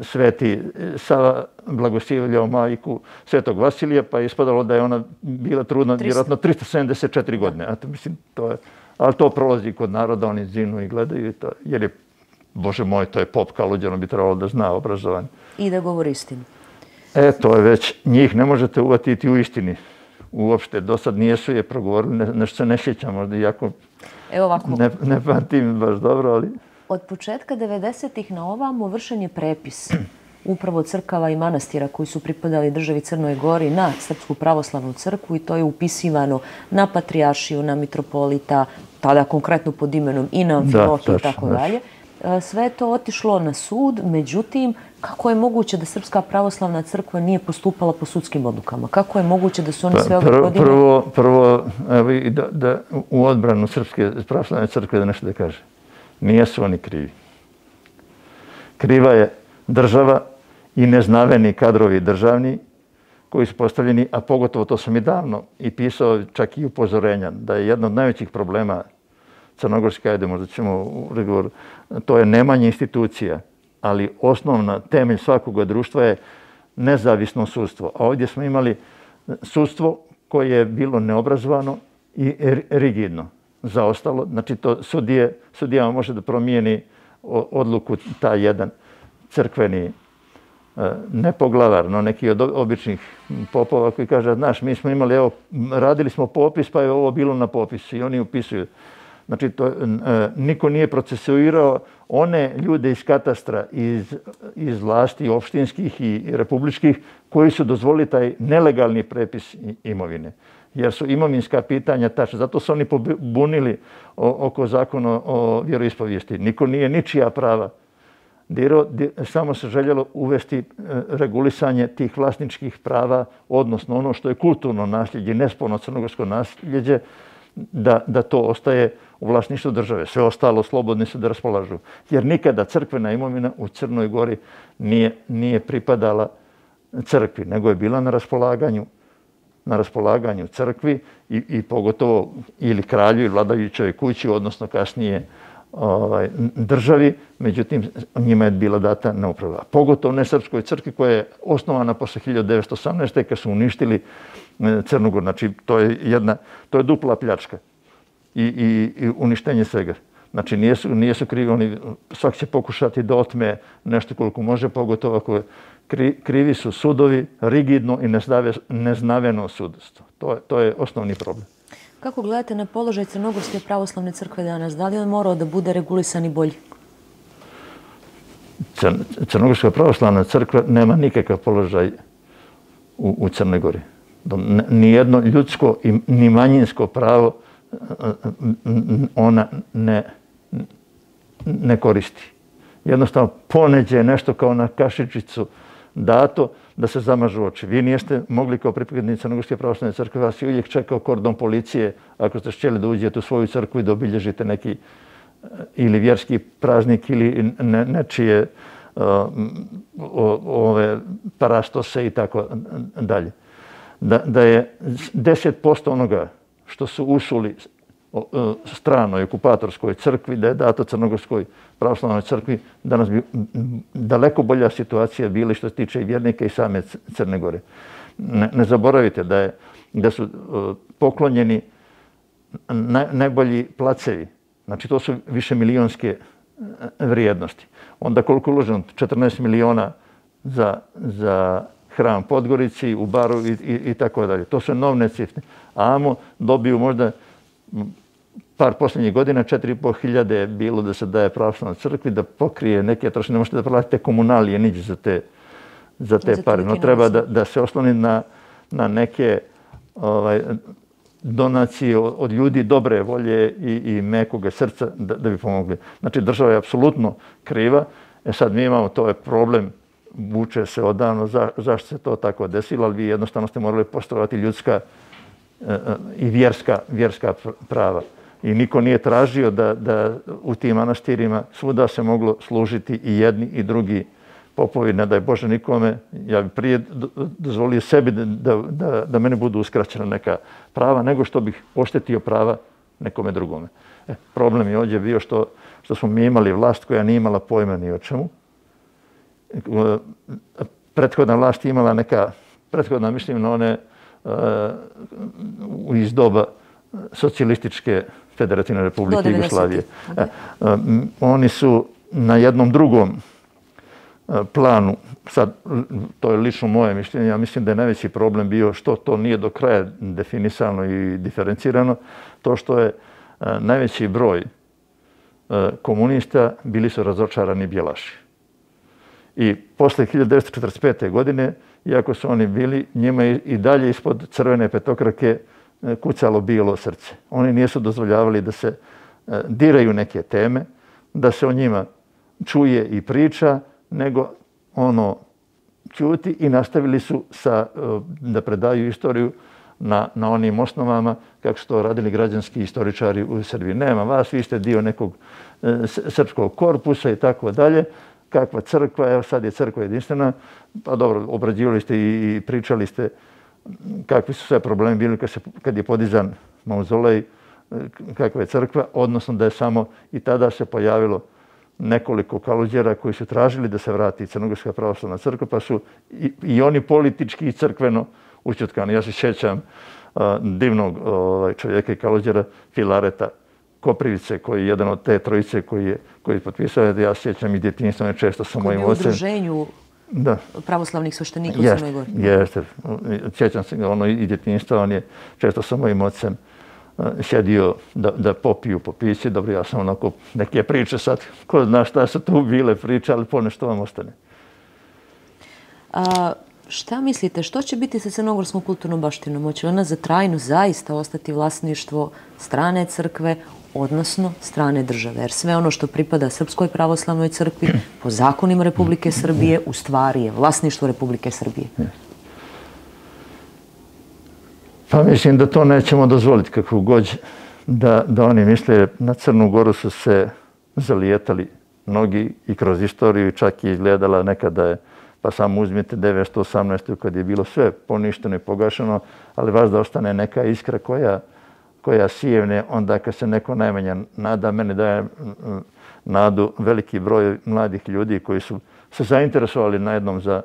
Sveti Sava blagoslivljao majku Svetog Vasilija, pa je ispadalo da je ona bila trudna vjerojatno tristo sedamdeset četiri godine. Eto, mislim, to je, ali to prolazi kod naroda, oni zinu i gledaju i to, jer je, Bože moj, to je pop kaluđeno, bi trebalo da zna obrazovanje. I da govori istinu. E, to je već, njih ne možete uvatiti u istini. Uopšte, do sad nijesu je progovorili, ne, nešto se ne sjećam, možda iako Evo ovako. Ne, ne pamtim baš dobro, ali... Od početka devedesetih na ovamo vršen je prepis upravo crkava i manastira koji su pripadali državi Crnoj Gori na Srpsku pravoslavnu crkvu i to je upisivano na patrijaršiju, na mitropolita, tada konkretno pod imenom i na Amfilohiju i tako dalje. Sve je to otišlo na sud, međutim, kako je moguće da Srpska pravoslavna crkva nije postupala po sudskim odlukama? Kako je moguće da su oni sve ove godine... Prvo, prvo evo, da, da u odbranu Srpske pravoslavne crkve da nešto da kaže. Nijesu oni krivi. Kriva je država i neznaveni kadrovi državni koji su postavljeni, a pogotovo to sam i davno i pisao čak i upozorenja, da je jedno od najvećih problema Crnogorske, ajde možda ćemo u razgovoru, to je nemanje institucija, ali osnovna temelj svakog društva je nezavisno sudstvo. A ovdje smo imali sudstvo koje je bilo neobrazovano i rigidno. Zaostalo, znači to sudije, sudijama može da promijeni odluku taj jedan crkveni nepoglavar, no neki od običnih popova koji kaže, znaš, mi smo imali, evo, radili smo popis, pa je ovo bilo na popisu i oni upisuju. Znači, to, niko nije procesuirao one ljude iz katastra, iz, iz vlasti opštinskih i republičkih, koji su dozvolili taj nelegalni prepis imovine. Jer su imovinska pitanja tačna. Zato su oni pobunili oko zakona o vjeroispovijesti. Niko nije ničija prava dirao, samo se željelo uvesti regulisanje tih vlasničkih prava, odnosno ono što je kulturno nasljeđe, nesporno crnogorsko nasljeđe, da, da to ostaje u vlasništvu države. Sve ostalo slobodni su da raspolažu. Jer nikada crkvena imovina u Crnoj Gori nije, nije pripadala crkvi, nego je bila na raspolaganju na raspolaganju crkvi i, i pogotovo ili kralju ili vladajućoj kući, odnosno kasnije ovaj, državi, međutim njima je bila data na upravu. Pogotovo ne Srpskoj crkvi koja je osnovana posle hiljadu devetsto osamnaeste. kad su uništili Crnu Goru. Znači to je jedna, to je dupla pljačka i, i, i uništenje svega. Znači nijesu, nijesu krivi, oni svak će pokušati da otme nešto koliko može, pogotovo ako je Kri, krivi su sudovi, rigidno i neznaveno sudstvo. To je, to je osnovni problem. Kako gledate na položaj Crnogorske pravoslavne crkve danas? Da li on morao da bude regulisan i bolji? Crnogorska pravoslavna crkva nema nikakav položaj u, u Crnoj Gori. Nijedno ljudsko i ni manjinsko pravo ona ne, ne koristi. Jednostavno poneđe nešto kao na kašičicu dato da se zamažu oči. Vi nijeste mogli kao pripadnici Crnogorske pravoslavne crkve, vas je uvijek čekao kordon policije ako ste htjeli da uđete u svoju crkvu i da obilježite neki ili vjerski praznik ili ne, nečije uh, ove parastose i tako dalje. Da, da je deset posto onoga što su usuli stranoj okupatorskoj crkvi, da je dato Crnogorskoj pravoslavnoj crkvi, danas bi daleko bolja situacija bila što se tiče i vjernika i same Crne Gore. Ne, ne zaboravite da, je, da su poklonjeni naj, najbolji placevi. Znači to su više milionske vrijednosti. Onda koliko je uloženo? četrnaest miliona za, za hram Podgorici, u Baru i, i, i tako dalje. To su enormne cifre. A amo dobiju možda par posljednjih godina, četiri i pol hiljade je bilo da se daje pravoslavnoj crkvi, da pokrije neke troškove. Ne možete da platite komunalije niđe za te, za te pare. No treba da, da se osloni na, na neke ovaj, donacije od, od ljudi dobre volje i, i mekoga srca da, da bi pomogli. Znači država je apsolutno kriva. E sad mi imamo, to je problem, vuče se odavno za, zašto se to tako desilo, ali vi jednostavno ste morali poštovati ljudska e, i vjerska, vjerska prava. I niko nije tražio da, da u tim manastirima svuda se moglo služiti i jedni i drugi popovi, ne daj Bože nikome. Ja bi prije dozvolio sebi da, da, da mene budu uskraćena neka prava, nego što bih oštetio prava nekome drugome. E, problem je ovdje bio što, što smo mi imali vlast koja nije imala pojma ni o čemu. Prethodna vlast je imala neka, prethodna mislim na one uh, iz doba socijalističke Federativne Republike Jugoslavije. E, um, oni su na jednom drugom planu, sad to je lično moje mišljenje, ja mislim da je najveći problem bio što to nije do kraja definisano i diferencirano, to što je najveći broj komunista bili su razočarani bjelaši. I posle hiljadu devetsto četrdeset pete. godine, iako su oni bili, njima i dalje ispod crvene petokrake kucalo bijelo srce. Oni nisu dozvoljavali da se diraju neke teme, da se o njima čuje i priča, nego ono ćuti i nastavili su sa, da predaju istoriju na, na onim osnovama kako su to radili građanski istoričari u Srbiji. Nema vas, vi ste dio nekog e, srpskog korpusa i tako dalje. Kakva crkva, evo sad je crkva jedinstvena, pa dobro, obrađivali ste i, i pričali ste kakvi su sve problemi bili kad, se, kad je podizan mauzolej, kakva je crkva, odnosno da je samo i tada se pojavilo nekoliko kaluđera koji su tražili da se vrati Crnogorska pravoslavna crkva, pa su i, i oni politički i crkveno ućutkani. Ja se sjećam uh, divnog uh, čovjeka i kaluđera Filareta Koprivice, koji je jedan od te trojice koji je, koji je potpisao. Ja se sjećam i djetinjstvo je često sa mojim ocem. Koji je u udruženju da. pravoslavnih sveštenika u Crnoj Gori. Jeste, sjećam se ono i djetinjstva, on je često sa mojim ocem sjedio da, da popiju po pići. Dobro, ja sam onako neke priče sad, ko zna šta su tu bile priče, ali ponešto vam ostane. A, šta mislite, što će biti sa crnogorskom kulturnom baštinom? Hoće ona za trajno zaista ostati vlasništvo strane crkve, odnosno strane države? Jer sve ono što pripada Srpskoj pravoslavnoj crkvi po zakonima Republike Srbije u stvari je vlasništvo Republike Srbije. Pa mislim da to nećemo dozvoliti kakvu god da, da oni misle. Na Crnu Goru su se zalijetali mnogi i kroz istoriju, čak i izgledala nekada je, pa samo uzmite devetsto osamnaestu. kad je bilo sve poništeno i pogašeno, ali vas da ostane neka iskra koja, koja sijevne onda kad se neko najmanja nada. Mene daje nadu veliki broj mladih ljudi koji su se zainteresovali najednom za,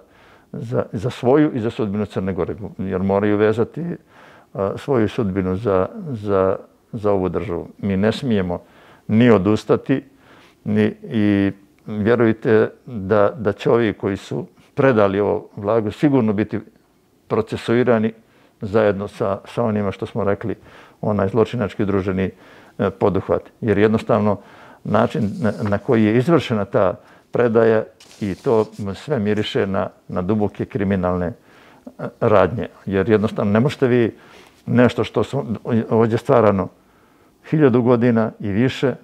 za, za svoju i za sudbinu Crne Gore, jer moraju vezati svoju sudbinu za, za, za ovu državu. Mi ne smijemo ni odustati ni, i vjerujte da, da će ovi koji su predali ovo blago sigurno biti procesuirani zajedno sa, sa onima što smo rekli, onaj zločinački udruženi poduhvat. Jer jednostavno način na, na koji je izvršena ta predaja i to sve miriše na, na duboke kriminalne radnje. Jer jednostavno ne možete vi nešto što su ovdje stvarano hiljadu godina i više,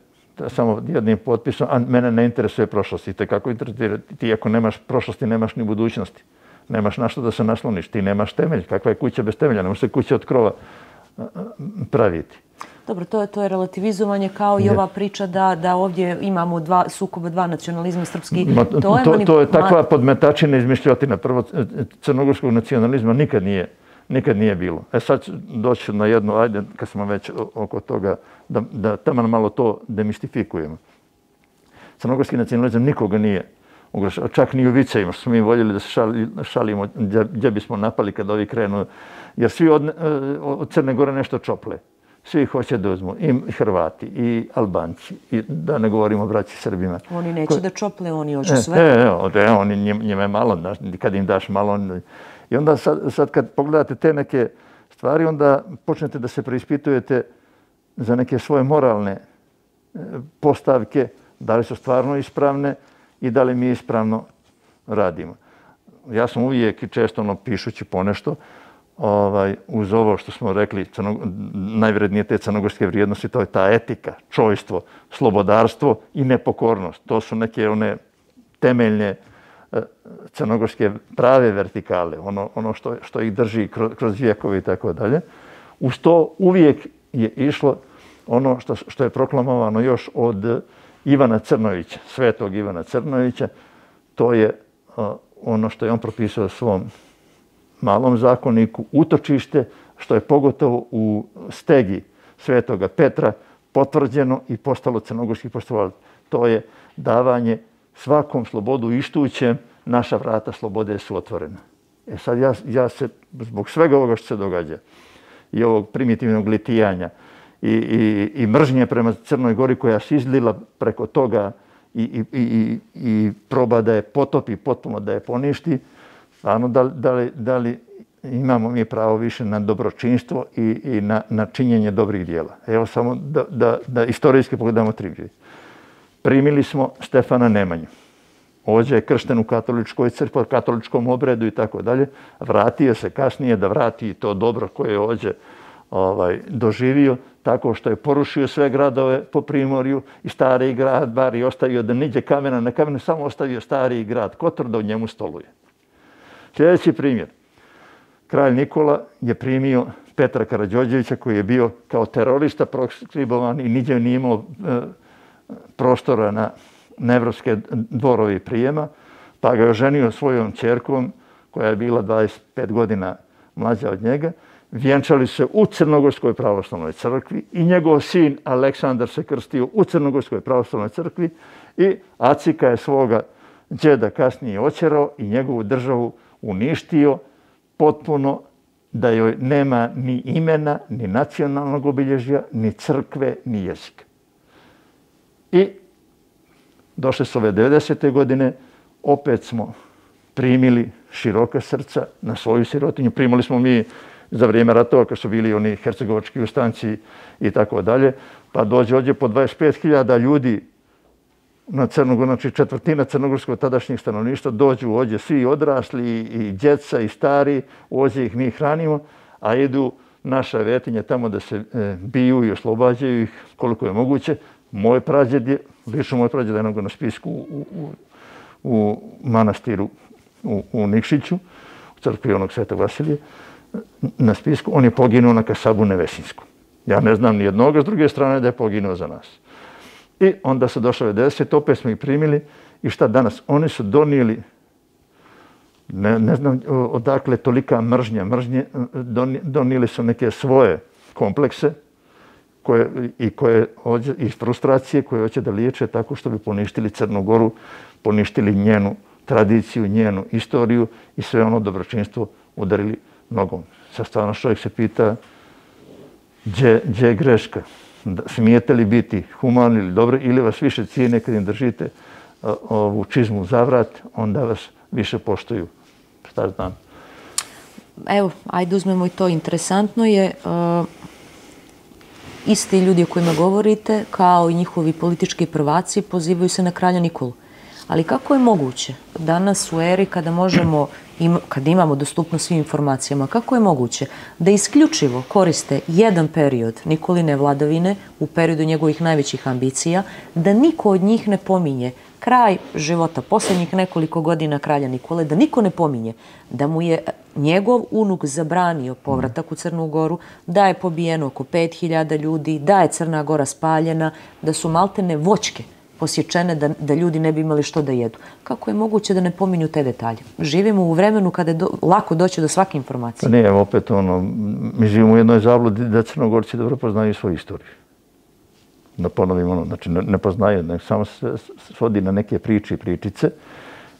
samo jednim potpisom, a mene ne interesuje prošlost. I te kako interesuje, ti ako nemaš prošlosti, nemaš ni budućnosti. Nemaš na što da se nasloniš, ti nemaš temelj. Kakva je kuća bez temelja? Ne može se kuća od krova praviti. Dobro, to je, to je relativizovanje kao i ova priča da, da ovdje imamo dva sukoba, dva nacionalizma srpski. Ma, to, je to, to je takva podmetačina izmišljotina. Prvo, crnogorskog nacionalizma nikad nije nikad nije bilo. E sad ću doći na jedno, ajde, kad smo već oko toga, da, da taman malo to demistifikujemo. Crnogorski nacionalizam nikoga nije ugrožavao, čak ni u vicevima, što smo mi voljeli da se šali, šalimo gdje, gdje bismo napali kad ovi krenu, jer svi od, od Crne Gore nešto čople. Svi hoće da uzmu, i Hrvati, i Albanci, i da ne govorimo o braći Srbima. Oni neće Ko... da čople, oni hoće e, sve. E, e, e, oni njima je malo, daš, kad im daš malo. On... I onda sad, sad kad pogledate te neke stvari, onda počnete da se preispitujete za neke svoje moralne postavke, da li su stvarno ispravne i da li mi ispravno radimo. Ja sam uvijek i često ono, pišući ponešto, ovaj, uz ovo što smo rekli, crno, najvrednije te crnogorske vrijednosti, to je ta etika, čojstvo, slobodarstvo i nepokornost. To su neke one temeljne e, crnogorske prave vertikale, ono, ono što, što ih drži kroz, kroz vijekove i tako dalje. Uz to uvijek je išlo ono što, što je proklamovano još od Ivana Crnovića, svetog Ivana Crnovića, to je uh, ono što je on propisao svom malom zakoniku, utočište, što je pogotovo u stegi svetoga Petra potvrđeno i postalo crnogorski poštovalac. To je davanje svakom slobodu ištućem, naša vrata slobode su otvorena. E sad ja, ja se, zbog svega ovoga što se događa i ovog primitivnog litijanja i, i, i mržnje prema Crnoj Gori koja se izlila preko toga i, i, i, i proba da je potopi, potpuno da je poništi, stvarno da, da, li, da li imamo mi pravo više na dobročinstvo i, i na, na činjenje dobrih dijela. Evo samo da, da, da istorijski pogledamo triviju. Primili smo Stefana Nemanju. Ovdje je kršten u katoličkoj crkvi, katoličkom obredu i tako dalje. Vratio se kasnije da vrati to dobro koje je ovdje ovaj, doživio, tako što je porušio sve gradove po Primorju i stari grad, bar i ostavio da niđe kamena na kamenu, samo ostavio stari grad Kotor da u njemu stoluje. Sljedeći primjer. Kralj Nikola je primio Petra Karađorđevića koji je bio kao terorista proskribovan i niđe nije imao e, prostora na nevropske dvorovi prijema, pa ga je oženio svojom ćerkom koja je bila dvadeset pet godina mlađa od njega. Vjenčali se u Crnogorskoj pravoslavnoj crkvi i njegov sin Aleksandar se krstio u Crnogorskoj pravoslavnoj crkvi i Acika je svoga džeda kasnije očerao i njegovu državu uništio potpuno, da joj nema ni imena, ni nacionalnog obilježja, ni crkve, ni jezika. I došle su ove devedesete godine, opet smo primili široka srca na svoju sirotinju. Primili smo mi za vrijeme ratova, kad su bili oni hercegovački ustanci i tako dalje, pa dođe ovdje po dvadeset pet hiljada ljudi na Crnogoru, znači četvrtina crnogorskog tadašnjeg stanovništva, dođu ovdje svi odrasli i djeca i stari, ovdje ih mi hranimo, a idu naša vetinja tamo da se e, biju i oslobađaju ih koliko je moguće. Moj prađed je, lično moj prađed je na spisku u, u, u manastiru u, u Nikšiću, u crkvi onog Svetog Vasilija, na spisku, on je poginuo na Kasabu Nevesinsku. Ja ne znam ni jednoga, s druge strane da je poginuo za nas. I onda su došle devedeset, opet smo ih primili i šta danas? Oni su donijeli, ne, ne znam odakle tolika mržnja, mržnje, donijeli su neke svoje komplekse koje, i, koje, i frustracije koje hoće da liječe tako što bi poništili Crnu Goru, poništili njenu tradiciju, njenu istoriju i sve ono dobročinstvo udarili nogom. Sad stvarno čovjek se pita gdje je greška? Smijete li biti humani ili dobri ili vas više cijene kad im držite ovu čizmu za vrat, onda vas više poštuju. Šta znam? Evo, ajde uzmemo i to. Interesantno je, uh, isti ljudi o kojima govorite, kao i njihovi politički prvaci, pozivaju se na kralja Nikolu. Ali kako je moguće danas u eri kada možemo, kad imamo dostupnost svim informacijama, kako je moguće da isključivo koriste jedan period Nikoline vladavine u periodu njegovih najvećih ambicija, da niko od njih ne pominje kraj života posljednjih nekoliko godina kralja Nikole, da niko ne pominje da mu je njegov unuk zabranio povratak u Crnu Goru, da je pobijeno oko pet hiljada ljudi, da je Crna Gora spaljena, da su maltene voćke posječene da, da ljudi ne bi imali što da jedu. Kako je moguće da ne pominju te detalje? Živimo u vremenu kada je do, lako doći do svake informacije. Pa nije, opet ono, mi živimo u jednoj zabludi da Crnogorci dobro poznaju svoju istoriju. Da ponovim ono, znači ne, ne poznaju, ne, samo se svodi na neke priče i pričice.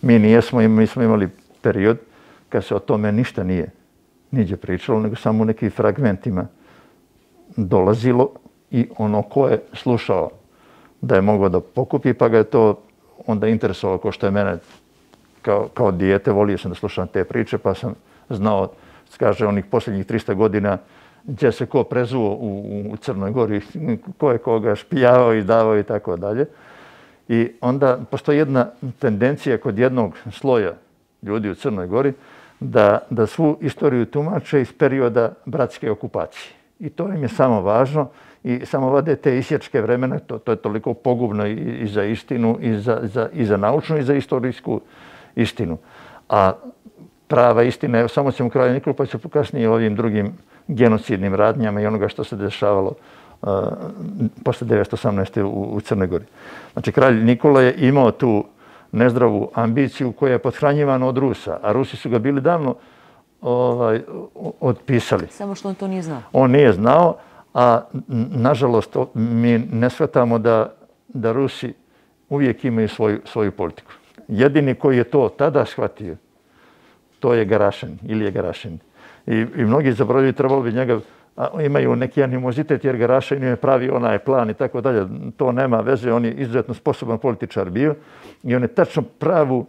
Mi nijesmo, mi smo imali period kad se o tome ništa nije niđe pričalo, nego samo u nekim fragmentima dolazilo i ono ko je slušao da je mogao da pokupi, pa ga je to onda interesovalo, kao što je mene kao, kao dijete, volio sam da slušam te priče, pa sam znao, kaže, onih posljednjih trista godina gdje se ko prezuo u, u Crnoj Gori, ko je koga špijavao i davao i tako dalje. I onda postoji jedna tendencija kod jednog sloja ljudi u Crnoj Gori da, da svu istoriju tumače iz perioda bratske okupacije. I to im je samo važno i samo vade te isječke vremena, to, to je toliko pogubno i, i za istinu, i za, za, i za naučnu, i za istorijsku istinu. A prava istina, evo samo ćemo kralju Nikolu, pa ću kasnije o ovim drugim genocidnim radnjama i onoga što se dešavalo uh, posle devetsto osamnaeste. U, u Crnoj Gori. Znači, kralj Nikola je imao tu nezdravu ambiciju koja je pothranjivana od Rusa, a Rusi su ga bili davno ovaj, otpisali. Samo što on to nije znao. On nije znao, a nažalost mi ne shvatamo da, da Rusi uvijek imaju svoju, svoju politiku. Jedini koji je to tada shvatio, to je Garašin, Ilija Garašin. I, i mnogi zaboravljaju, trebalo bi njega, a, imaju neki animozitet jer Garašin je pravi onaj plan i tako dalje. To nema veze, on je izuzetno sposoban političar bio i on je tačno pravu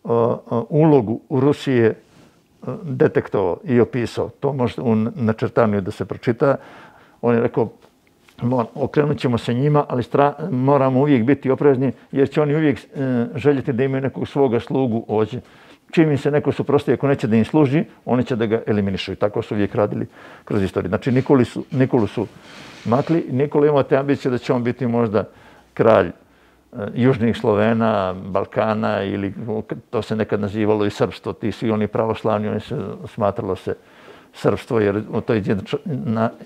o, o, ulogu u Rusije detektovao i opisao. To može u načrtanju da se pročita. On je rekao, okrenut ćemo se njima, ali stra, moramo uvijek biti oprezni jer će oni uvijek e, željeti da imaju nekog svoga slugu ovdje. Čim im se neko suprostavi, ako neće da im služi, oni će da ga eliminišu. I tako su uvijek radili kroz istoriju. Znači, Nikolu su, Nikolu su makli. Nikola imao te ambicije da će on biti možda kralj e, južnih Slovena, Balkana ili to se nekad nazivalo i srpstvo. Ti svi oni pravoslavni, oni se smatralo se srpstvo, jer to je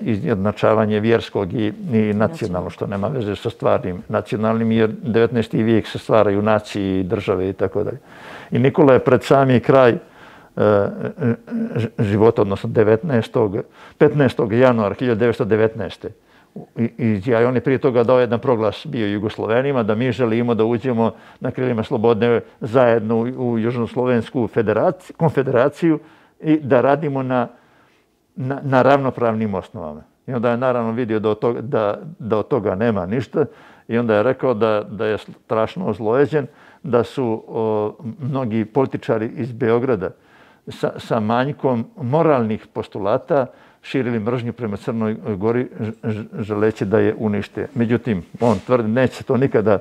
izjednačavanje vjerskog i, i nacionalno, što nema veze sa stvarnim nacionalnim, jer devetnaesti vijek se stvaraju nacije i države i tako dalje. I Nikola je pred sami kraj e, života, odnosno devetnaestog petnaestog januara hiljadu devetsto devetnaeste. I, i ja, on je prije toga dao jedan proglas bio Jugoslovenima da mi želimo da uđemo na krilima slobodne zajedno u, u Južnoslovensku konfederaciju i da radimo na Na, na ravnopravnim osnovama. I onda je naravno vidio da od toga, da, da od toga nema ništa i onda je rekao da, da je strašno ozlojeđen, da su o, mnogi političari iz Beograda sa, sa manjkom moralnih postulata širili mržnju prema Crnoj Gori želeći da je unište. Međutim, on tvrdi neće se to nikada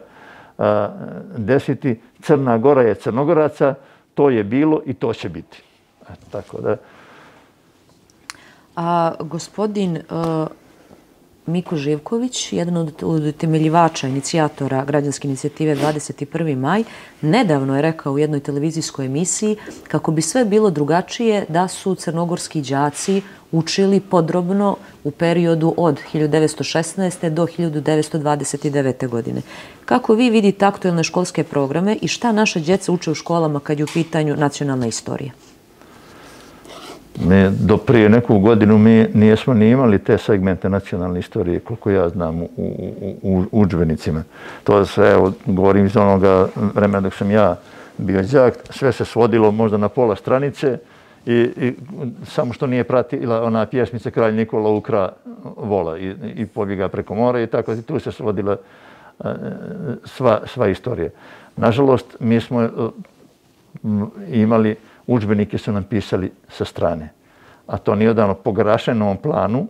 a, desiti. Crna Gora je Crnogoraca, to je bilo i to će biti. E, tako da A gospodin uh, Miko Živković, jedan od utemeljivača, inicijatora građanske inicijative dvadeset prvi maj, nedavno je rekao u jednoj televizijskoj emisiji kako bi sve bilo drugačije da su crnogorski đaci učili podrobno u periodu od hiljadu devetsto šesnaeste. do hiljadu devetsto dvadeset devete. godine. Kako vi vidite aktuelne školske programe i šta naše djeca uče u školama kad je u pitanju nacionalna istorija? Mi do prije neku godinu mi nijesmo ni imali te segmente nacionalne istorije, koliko ja znam, u, u, u udžbenicima. To se, evo, govorim iz onoga vremena dok sam ja bio đak, sve se svodilo možda na pola stranice i, i samo što nije pratila ona pjesmica Kralj Nikola ukra vola i, i pobjega preko mora i tako, i tu se svodila sva, sva istorija. Nažalost, mi smo imali udžbenike su nam pisali sa strane. A to nije odavno po Garašinovom planu,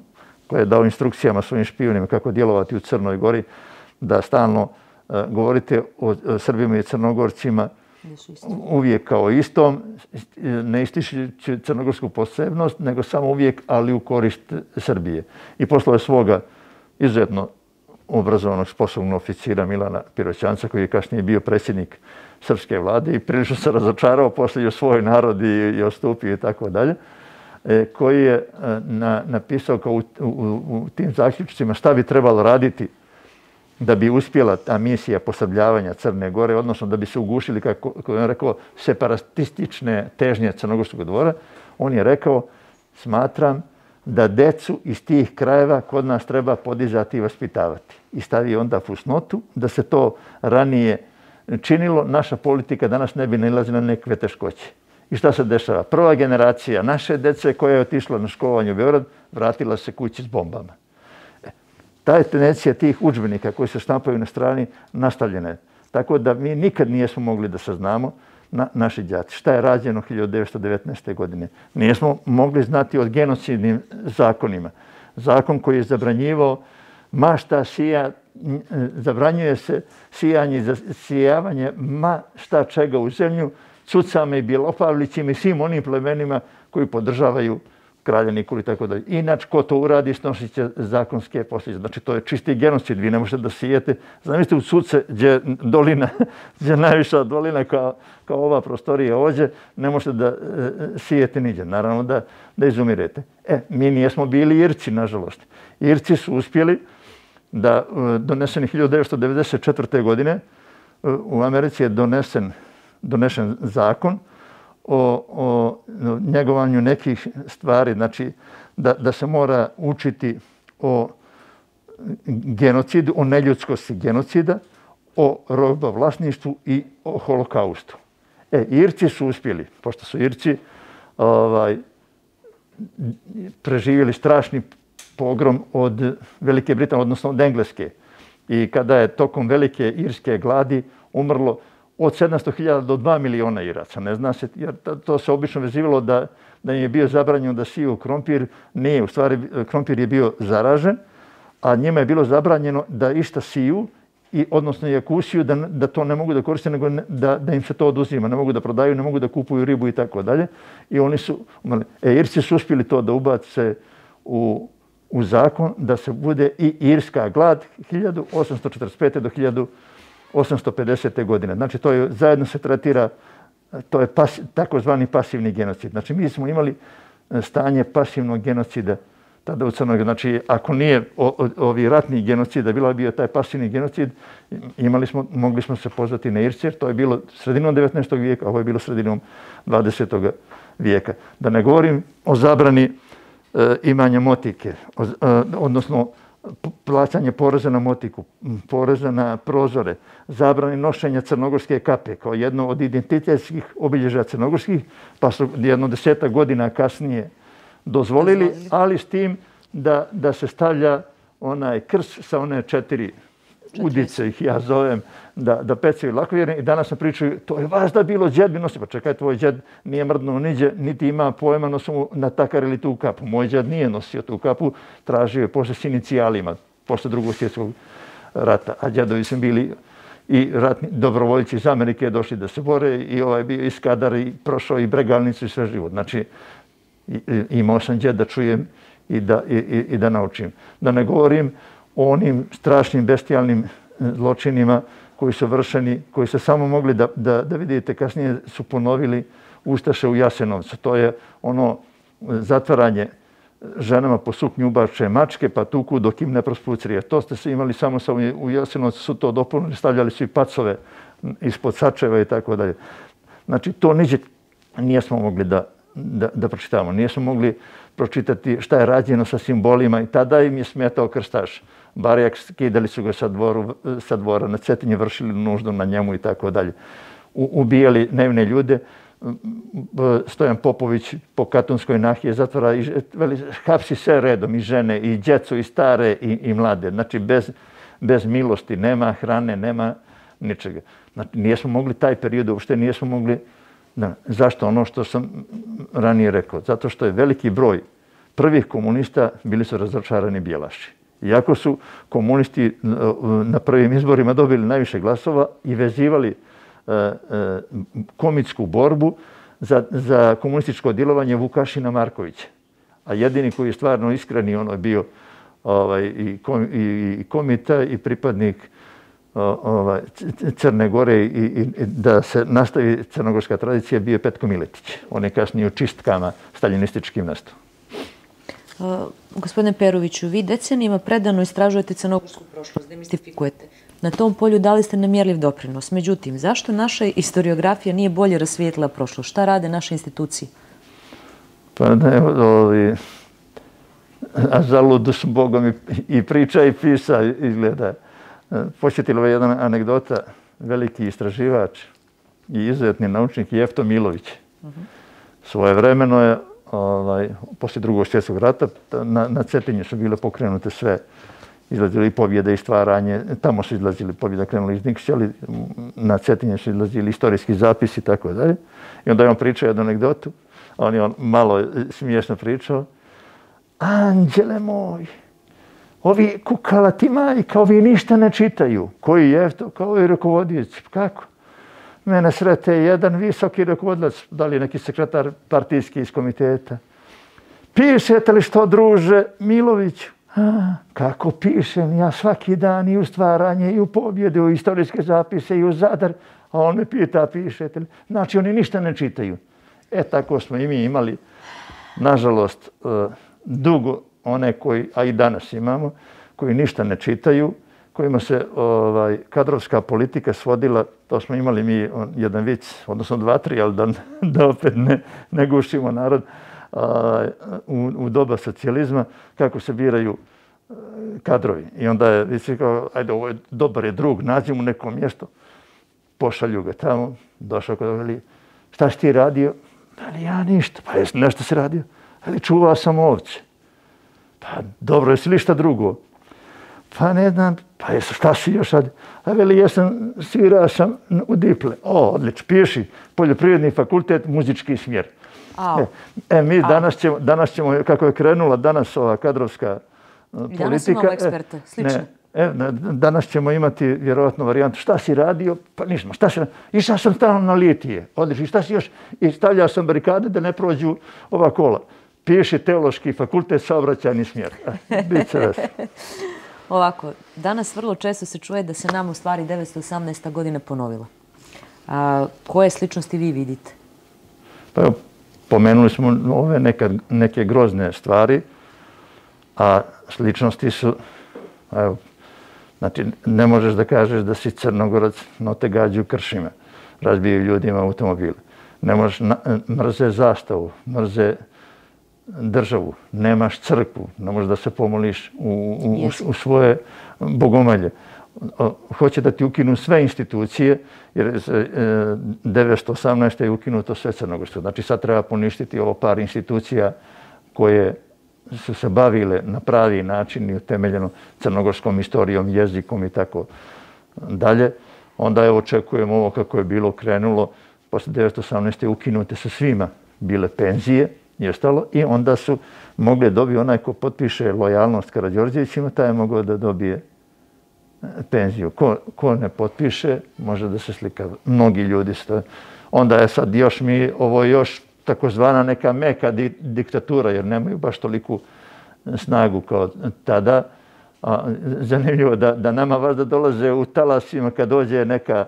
koji je dao instrukcijama svojim špijunima kako djelovati u Crnoj Gori, da stalno uh, govorite o, o Srbima i Crnogorcima uvijek kao istom, ne ističući crnogorsku posebnost, nego samo uvijek, ali u korist Srbije. I poslao je svoga izuzetno obrazovanog, sposobnog oficira Milana Piroćanca, koji je kasnije bio predsjednik srpske vlade i prilično se razočarao, poslije u svoj narod i, i ostupio i tako dalje, koji je na, napisao kao u, u, u tim zaključcima šta bi trebalo raditi da bi uspjela ta misija posrbljavanja Crne Gore, odnosno da bi se ugušili, kako je rekao, separatistične težnje Crnogorskog dvora, on je rekao, smatram da decu iz tih krajeva kod nas treba podizati i vaspitavati. I stavi onda fusnotu da se to ranije činilo, naša politika danas ne bi nailazila na nekakve teškoće. I šta se dešava? Prva generacija naše dece koja je otišla na školovanje u Beograd, vratila se kući s bombama. Ta je tendencija tih udžbenika koji se štampaju na strani nastavljena je. Tako da mi nikad nijesmo mogli da saznamo, na, naši đaci, šta je rađeno hiljadu devetsto devetnaeste. godine. Nijesmo mogli znati o genocidnim zakonima. Zakon koji je zabranjivao ma šta sija, zabranjuje se sijanje i zasijavanje ma šta čega u zemlju, Cucama i Bjelopavlićima i svim onim plemenima koji podržavaju kralja Nikolu i tako dalje. Inače, ko to uradi, snosit će zakonske posljedice. Znači, to je čisti genocid. Vi ne možete da sijete. Zamislite u Cuce, gdje dolina, gdje najviša dolina kao, kao ova prostorija ovdje, ne možete da e, sijete niđe. Naravno da, da izumirete. E, mi nijesmo bili Irci, nažalost. Irci su uspjeli da e, doneseni hiljadu devetsto devedeset četvrte. godine e, u Americi je donesen, donesen zakon o, o njegovanju nekih stvari, znači da, da se mora učiti o genocidu, o neljudskosti genocida, o robovlasništvu i o holokaustu. E, Irci su uspjeli, pošto su Irci ovaj, preživjeli strašni pogrom od Velike Britanije, odnosno od Engleske. I kada je tokom velike irske gladi umrlo od sedamsto hiljada do dva miliona Iraca. Ne zna se, jer to se obično vezivalo da, da im je bio zabranjeno da siju krompir. Nije, u stvari krompir je bio zaražen, a njima je bilo zabranjeno da išta siju, i, odnosno i ako usiju, da, da to ne mogu da koriste, nego da, da im se to oduzima. Ne mogu da prodaju, ne mogu da kupuju ribu i tako dalje. I oni su, e, Irci su uspjeli to da ubace u, u zakon, da se bude i irska glad hiljadu osamsto četrdeset pete. do hiljadu osamsto pedesete. godine. Znači, to je, zajedno se tretira, to je pas, takozvani pasivni genocid. Znači, mi smo imali stanje pasivnog genocida tada u Crnoj Gori. Znači, ako nije o, o, ovi ratni genocid, da bilo bio taj pasivni genocid, imali smo, mogli smo se pozvati na Irce, jer to je bilo sredinom devetnaestog. vijeka, a ovo je bilo sredinom dvadesetog. vijeka. Da ne govorim o zabrani e, imanja motike, o, e, odnosno plaćanje poreza na motiku, poreza na prozore, zabrani nošenja crnogorske kape kao jedno od identitetskih obilježja crnogorskih, pa su jedno desetak godina kasnije dozvolili, ali s tim da, da se stavlja onaj krst sa one četiri udice, ih ja zovem, da, da pecaju lakovjerne. I danas nam pričaju, to je vas da bilo, džed bi nosio. Pa čekaj, tvoj džed nije mrdnuo niđe, niti ima pojma, nosu na takar ili tu kapu. Moj džed nije nosio tu kapu, tražio je posle s inicijalima, posle drugog svjetskog rata. A džedovi su bili i ratni dobrovoljci iz Amerike došli da se bore, i ovaj bio iz Kadara i prošao i Bregalnicu i sve život. Znači, imao sam džed da čujem i da, i, i da naučim. Da ne govorim o onim strašnim bestijalnim zločinima koji su vršeni, koji se samo mogli da, da, da vidite, kasnije su ponovili Ustaše u Jasenovcu. To je ono zatvaranje ženama po suknju ubače mačke, pa tuku dok im ne prospucrije. To ste se imali samo sa u Jasenovcu, su to dopunili, stavljali su i pacove ispod sačeva i tako dalje. Znači, to niđe nijesmo mogli da, da, da pročitamo. Nijesmo mogli pročitati šta je rađeno sa simbolima, i tada im je smetao krstaš. Barjak, skidali su ga sa, dvoru, sa dvora, na Cetinje vršili nuždu na njemu i tako dalje. Ubijali nevine ljude. Stojan Popović po Katunskoj nahije zatvora i veli, hapsi sve redom, i žene, i djecu, i stare, i, i mlade. Znači, bez, bez milosti, nema hrane, nema ničega. Znači, nijesmo mogli taj period, uopšte nijesmo mogli. Da. Zašto? Ono što sam ranije rekao. Zato što je veliki broj prvih komunista bili su razočarani bijelaši. Iako su komunisti na prvim izborima dobili najviše glasova i vezivali komitsku borbu za, za komunističko djelovanje Vukašina Markovića. A jedini koji je stvarno iskreni, ono je bio ovaj, i, kom, i komita i pripadnik ovaj, Crne Gore, i, i da se nastavi crnogorska tradicija, bio je Petko Miletić. On je kasnije u čistkama staljinističkim nastao. Gospodine Peroviću, vi decenijima predano istražujete crnogorsku prošlost, demistifikujete. Na tom polju dali ste nemjerljiv doprinos. Međutim, zašto naša istoriografija nije bolje rasvijetlila prošlost? Šta rade naše institucije? Pa ne, ovi... A zaludu su Bogom i priča i pisa izgleda. Posjetila je jedna anegdota, veliki istraživač i izuzetni naučnik Jefto Milović. Svojevremeno je, ovaj, poslije drugog svjetskog rata, na, na Cetinje su bile pokrenute sve, izlazili pobjede i stvaranje, tamo su izlazili pobjede, krenuli iz Nikšića, ali na Cetinje su izlazili istorijski zapisi i tako dalje. I onda je on pričao jednu anegdotu, a on je on malo smiješno pričao. Anđele moj, ovi kukalati majka, ovi ništa ne čitaju. Koji je to? Kao i rukovodioci. Kako? Mene srete jedan visoki rukovodilac, da li je neki sekretar partijski iz komiteta. Pišete li što, druže Miloviću? A, kako pišem? Ja svaki dan i u stvaranje, i u pobjede, u istorijske zapise, i u Zadar. A on me pita, pišete li? Znači, oni ništa ne čitaju. E, tako smo i mi imali, nažalost, dugo one koji, a i danas imamo, koji ništa ne čitaju, kojima se ovaj, kadrovska politika svodila, to smo imali mi jedan vic, odnosno dva, tri, ali da, da opet ne, ne gušimo narod, a, u, u doba socijalizma, kako se biraju kadrovi. I onda je vic kao, ajde, ovo je dobar je drug, nađi mu neko mjesto, pošalju ga tamo, došao kod veli, šta si ti radio? Ali ja ništa, pa jes nešto si radio? Ali čuvao sam ovce. Pa dobro, jesi li šta drugo? Pa ne znam, pa jesu, šta si još sad? A veli, jesam, svirao sam u diple. O, odlično, piši, poljoprivredni fakultet, muzički smjer. E, e, mi danas ćemo, danas ćemo, kako je krenula danas ova kadrovska politika... Danas imamo eksperte, slično. Ne, e, danas ćemo imati vjerovatno varijantu, šta si radio? Pa nismo, šta si radio? Išao sam stalno na litije, odlično, šta si još? I stavljao sam barikade da ne prođu ova kola. Piši teološki fakultet, saobraćajni smjer. Bit će ves. Ovako, danas vrlo često se čuje da se nam u stvari devetsto osamnaesta godina ponovila. A, koje sličnosti vi vidite? Pa evo, pomenuli smo ove neka, neke grozne stvari, a sličnosti su, evo, znači, ne možeš da kažeš da si Crnogorac, no te gađu kršima, razbijaju ljudima automobile. Ne možeš, na, mrze zastavu, mrze državu, nemaš crkvu, ne možeš da se pomoliš u, u, u svoje bogomelje. Hoće da ti ukinu sve institucije, jer devetsto osamnaeste je ukinuto sve crnogorsko. Znači sad treba poništiti ovo par institucija koje su se bavile na pravi način i utemeljeno crnogorskom istorijom, jezikom i tako dalje. Onda je očekujemo ovo kako je bilo krenulo. Posle devetsto osamnaeste ukinute su svima bile penzije i ostalo, i onda su mogli dobiti onaj ko potpiše lojalnost Karađorđevićima, taj je mogao da dobije penziju. Ko, ko ne potpiše, može da se slika. Mnogi ljudi su. Onda je sad još mi, ovo još takozvana neka meka di, diktatura, jer nemaju baš toliku snagu kao tada. A, zanimljivo da, da nama valjda dolaze u talasima kad dođe neka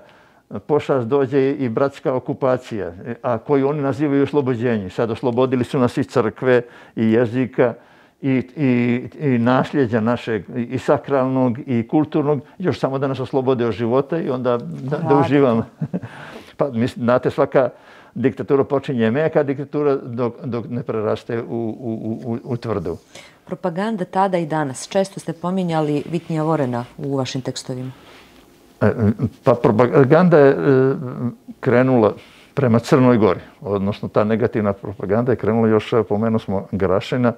pošast, dođe i bratska okupacija, a koju oni nazivaju oslobođenje. Sad oslobodili su nas i crkve, i jezika, i, i, i nasljeđa našeg, i sakralnog, i kulturnog, još samo da nas oslobode od života i onda da, da uživamo. Pa, mislim, znate, svaka diktatura počinje meka diktatura dok, dok ne preraste u, u, u, u tvrdu. Propaganda tada i danas. Često ste pominjali Vitnija Vorena u vašim tekstovima. Pa propaganda je krenula prema Crnoj Gori, odnosno ta negativna propaganda je krenula još, pomenuo smo Garašina,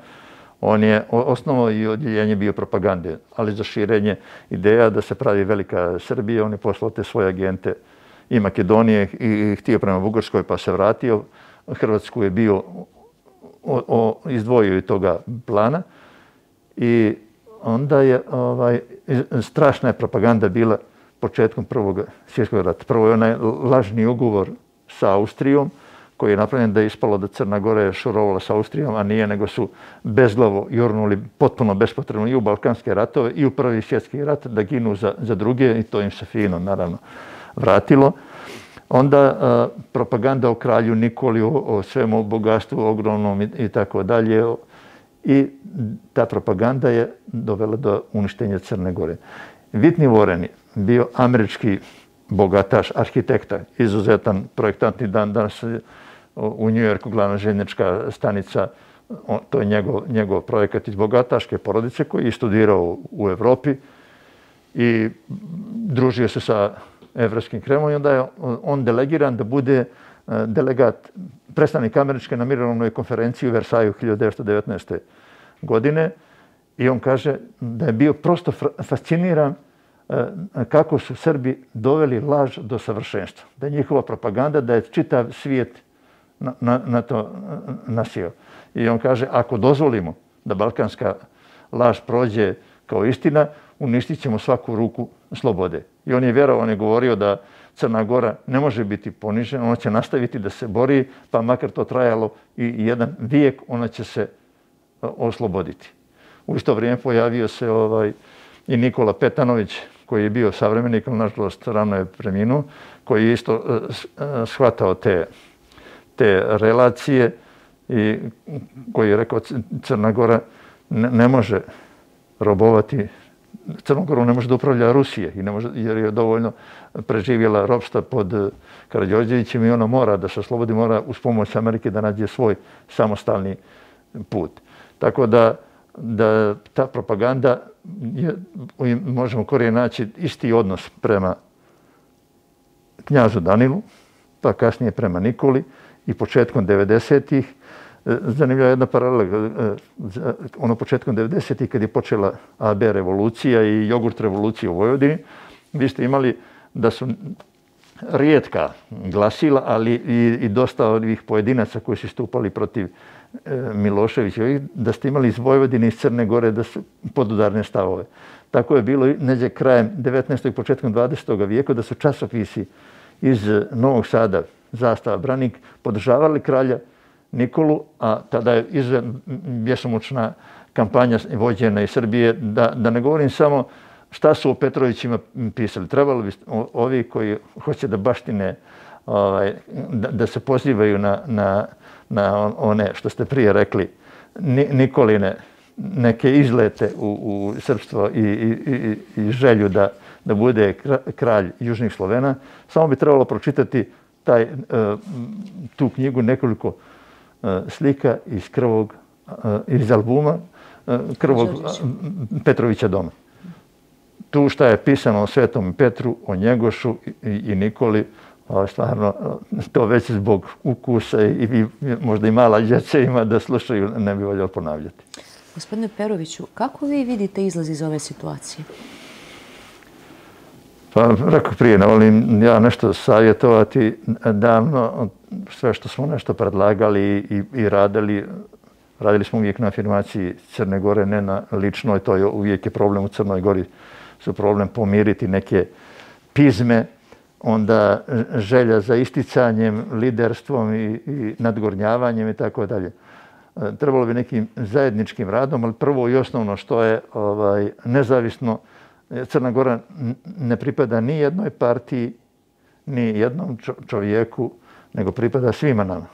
on je osnovo i odjeljenje bio propagande, ali za širenje ideja da se pravi velika Srbija, on je poslao te svoje agente i Makedonije i htio prema Bugarskoj pa se vratio. Hrvatsku je bio o, o, izdvojio i toga plana i onda je ovaj, strašna je propaganda bila početkom Prvog svjetskog rata. Prvo je onaj lažni ugovor sa Austrijom, koji je napravljen da je ispalo da Crna Gora je šurovala sa Austrijom, a nije, nego su bezglavo jurnuli potpuno bespotrebno i u Balkanske ratove i u Prvi svjetski rat da ginu za, za druge, i to im se fino, naravno, vratilo. Onda a, propaganda o kralju Nikoli, o, o svemu bogatstvu ogromnom i, i tako dalje. I ta propaganda je dovela do uništenja Crne Gore. Whitney Warren je bio američki bogataš, arhitekta, izuzetan projektant i dan danas u New Yorku glavna željeznička stanica, to je njegov, njegov projekat iz bogataške porodice koji je studirao u Evropi i družio se sa Evropskim Kremlom i onda je on delegiran da bude delegat, predstavnik američke na mirovnoj konferenciji u Versaju hiljadu devetsto devetnaeste. godine i on kaže da je bio prosto fasciniran kako su Srbi doveli laž do savršenstva. Da je njihova propaganda, da je čitav svijet na, na, na to nasio. I on kaže, ako dozvolimo da balkanska laž prođe kao istina, uništit ćemo svaku ruku slobode. I on je vjerovao, on je govorio da Crna Gora ne može biti ponižena, ona će nastaviti da se bori, pa makar to trajalo i jedan vijek, ona će se osloboditi. U isto vrijeme pojavio se ovaj, i Nikola Petanović, koji je bio savremenik, ali nažalost rano je preminuo, koji je isto shvatao te, te relacije i koji je rekao Crna Gora ne, ne može robovati, Crnom Gorom ne može da upravlja Rusije i ne može, jer je dovoljno preživjela ropstva pod Karađorđevićem i ona mora da se oslobodi, mora uz pomoć Amerike da nađe svoj samostalni put. Tako da, da ta propaganda je, možemo korije naći isti odnos prema knjazu Danilu, pa kasnije prema Nikoli i početkom devedesetih. Zanimljiva je jedna paralela. Ono početkom devedesetih kad je počela A B revolucija i jogurt revolucija u Vojvodini, vi ste imali da su rijetka glasila, ali i, i dosta ovih pojedinaca koji su stupali protiv Miloševića, da ste imali iz Vojvodine i iz Crne Gore da su podudarne stavove. Tako je bilo neđe krajem devetnaestog i početkom dvadesetog vijeka da su časopisi iz Novog Sada, Zastava, Branik, podržavali kralja Nikolu, a tada je izuzetno bjesomučna kampanja vođena iz Srbije, da, da ne govorim samo šta su o Petrovićima pisali. Trebalo bi ovi koji hoće da baštine, ovaj, da, da se pozivaju na, na, na one što ste prije rekli, Nikoline, neke izlete u, u srpstvo i, i, i želju da, da bude kralj Južnih Slovena, samo bi trebalo pročitati taj, tu knjigu, nekoliko slika iz krvog, iz albuma Krvog Petrovića doma. Tu šta je pisano o Svetom Petru, o Njegošu i, i Nikoli, stvarno to već zbog ukusa i, i možda i mala djeca ima da slušaju, ne bi voljelo ponavljati. Gospodine Peroviću, kako vi vidite izlaz iz ove situacije? Pa, rekao prije, ne volim ja nešto savjetovati. Davno, sve što smo nešto predlagali i, i radili, radili smo uvijek na afirmaciji Crne Gore, ne na ličnoj, to je uvijek je problem u Crnoj Gori, su problem pomiriti neke pizme, onda želja za isticanjem, liderstvom i, i nadgornjavanjem i tako dalje. Trebalo bi nekim zajedničkim radom, ali prvo i osnovno što je ovaj, nezavisno, Crna Gora ne pripada ni jednoj partiji, ni jednom čovjeku, nego pripada svima nama.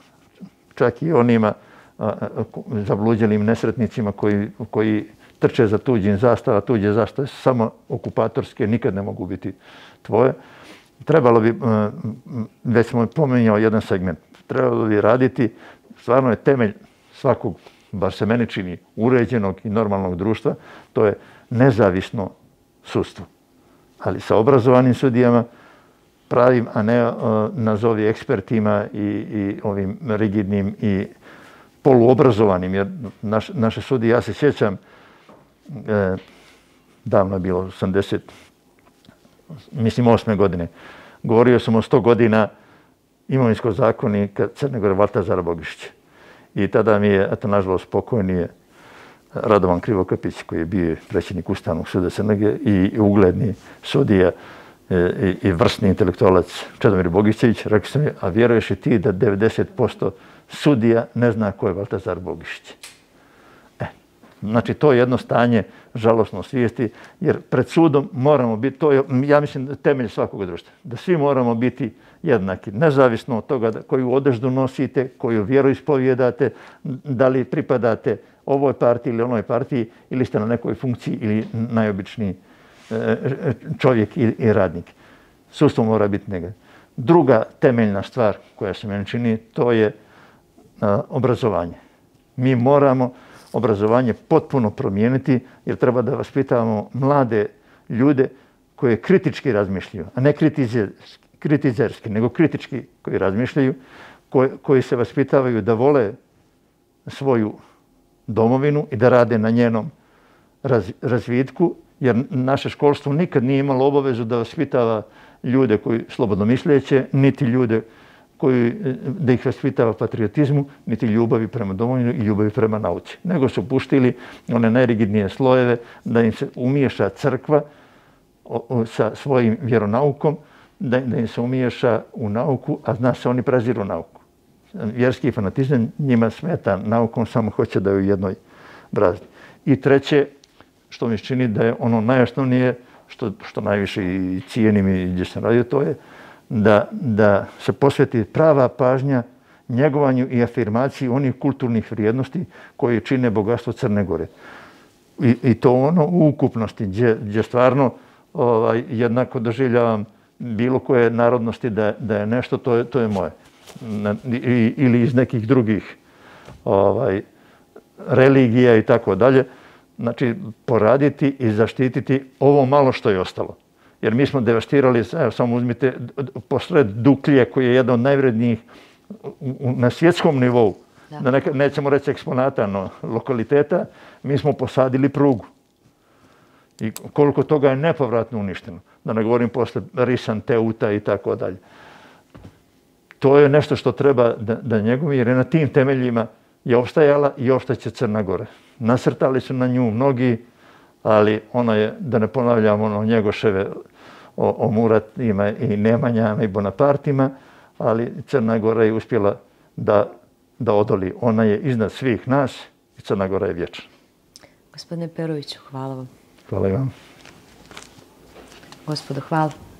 Čak i onima zabluđenim nesretnicima koji, koji trče za tuđim zastava, tuđe zastave samo okupatorske, nikad ne mogu biti tvoje. Trebalo bi, već smo pomenjao jedan segment, trebalo bi raditi, stvarno je temelj svakog, bar se meni čini, uređenog i normalnog društva, to je nezavisno sudstvo. Ali sa obrazovanim sudijama, pravim, a ne uh, nazovi ekspertima i, i ovim rigidnim i poluobrazovanim, jer naš, naše sudije, ja se sjećam, eh, davno je bilo osamdeset, mislim osme godine, govorio sam o sto godina imovinskog zakonika Crne Gore Valtazara Bogišića. I tada mi je, eto, nažalost, pokojni je Radovan Krivokapić, koji je bio predsjednik Ustavnog suda Crne Gore i ugledni sudija i, i vrsni intelektualac Čedomir Bogićević, rekao sam mi, a vjeruješ i ti da devedeset posto sudija ne zna ko je Valtazar Bogišić? E, znači, to je jedno stanje žalosno svijesti, jer pred sudom moramo biti, to je, ja mislim, temelj svakog društva, da svi moramo biti jednaki, nezavisno od toga koju odeždu nosite, koju vjeru ispovjedate, da li pripadate ovoj partiji ili onoj partiji, ili ste na nekoj funkciji ili najobičniji čovjek i radnik. Sudstvo mora biti negativno. Druga temeljna stvar koja se meni čini, to je obrazovanje. Mi moramo obrazovanje potpuno promijeniti jer treba da vaspitavamo mlade ljude koje kritički razmišljaju, a ne kritizerski, nego kritički koji razmišljaju, koji se vaspitavaju da vole svoju domovinu i da rade na njenom razvitku, jer naše školstvo nikad nije imalo obavezu da vaspitava ljude koji slobodno misleće, niti ljude koji, da ih vaspitava patriotizmu, niti ljubavi prema domovini i ljubavi prema nauci. Nego su puštili one najrigidnije slojeve da im se umiješa crkva sa svojim vjeronaukom, da im se umiješa u nauku, a zna se oni preziru nauku. Vjerski fanatizam njima smeta naukom, samo hoće da je u jednoj brazdi. I treće, što mi se čini da je ono najosnovnije, što, što najviše i cijenim i gdje sam radio, to je da, da se posveti prava pažnja njegovanju i afirmaciji onih kulturnih vrijednosti koje čine bogatstvo Crne Gore. I, i to ono u ukupnosti, gdje, gdje stvarno ovaj, jednako doživljavam bilo koje narodnosti da, da je nešto, to je, to je moje. Na, i, ili iz nekih drugih ovaj, religija i tako dalje. Znači, poraditi i zaštititi ovo malo što je ostalo. Jer mi smo devastirali, evo, samo uzmite, posred Duklje, koji je jedan od najvrednijih na svjetskom nivou, da, da neka, nećemo reći eksponata, no lokaliteta, mi smo posadili prugu. I koliko toga je nepovratno uništeno. Da ne govorim posle Risan, Teuta i tako dalje. To je nešto što treba da, da njegovi, jer je na tim temeljima je opstajala i opstaće Crna Gora. Nasrtali su na nju mnogi, ali ona je, da ne ponavljamo ono Njegoševe o, o Muratima i Nemanjama i Bonapartima, ali Crna Gora je uspjela da, da odoli. Ona je iznad svih nas i Crna Gora je vječna. Gospodine Peroviću, hvala vam. Hvala i vam. Gospodo, hvala.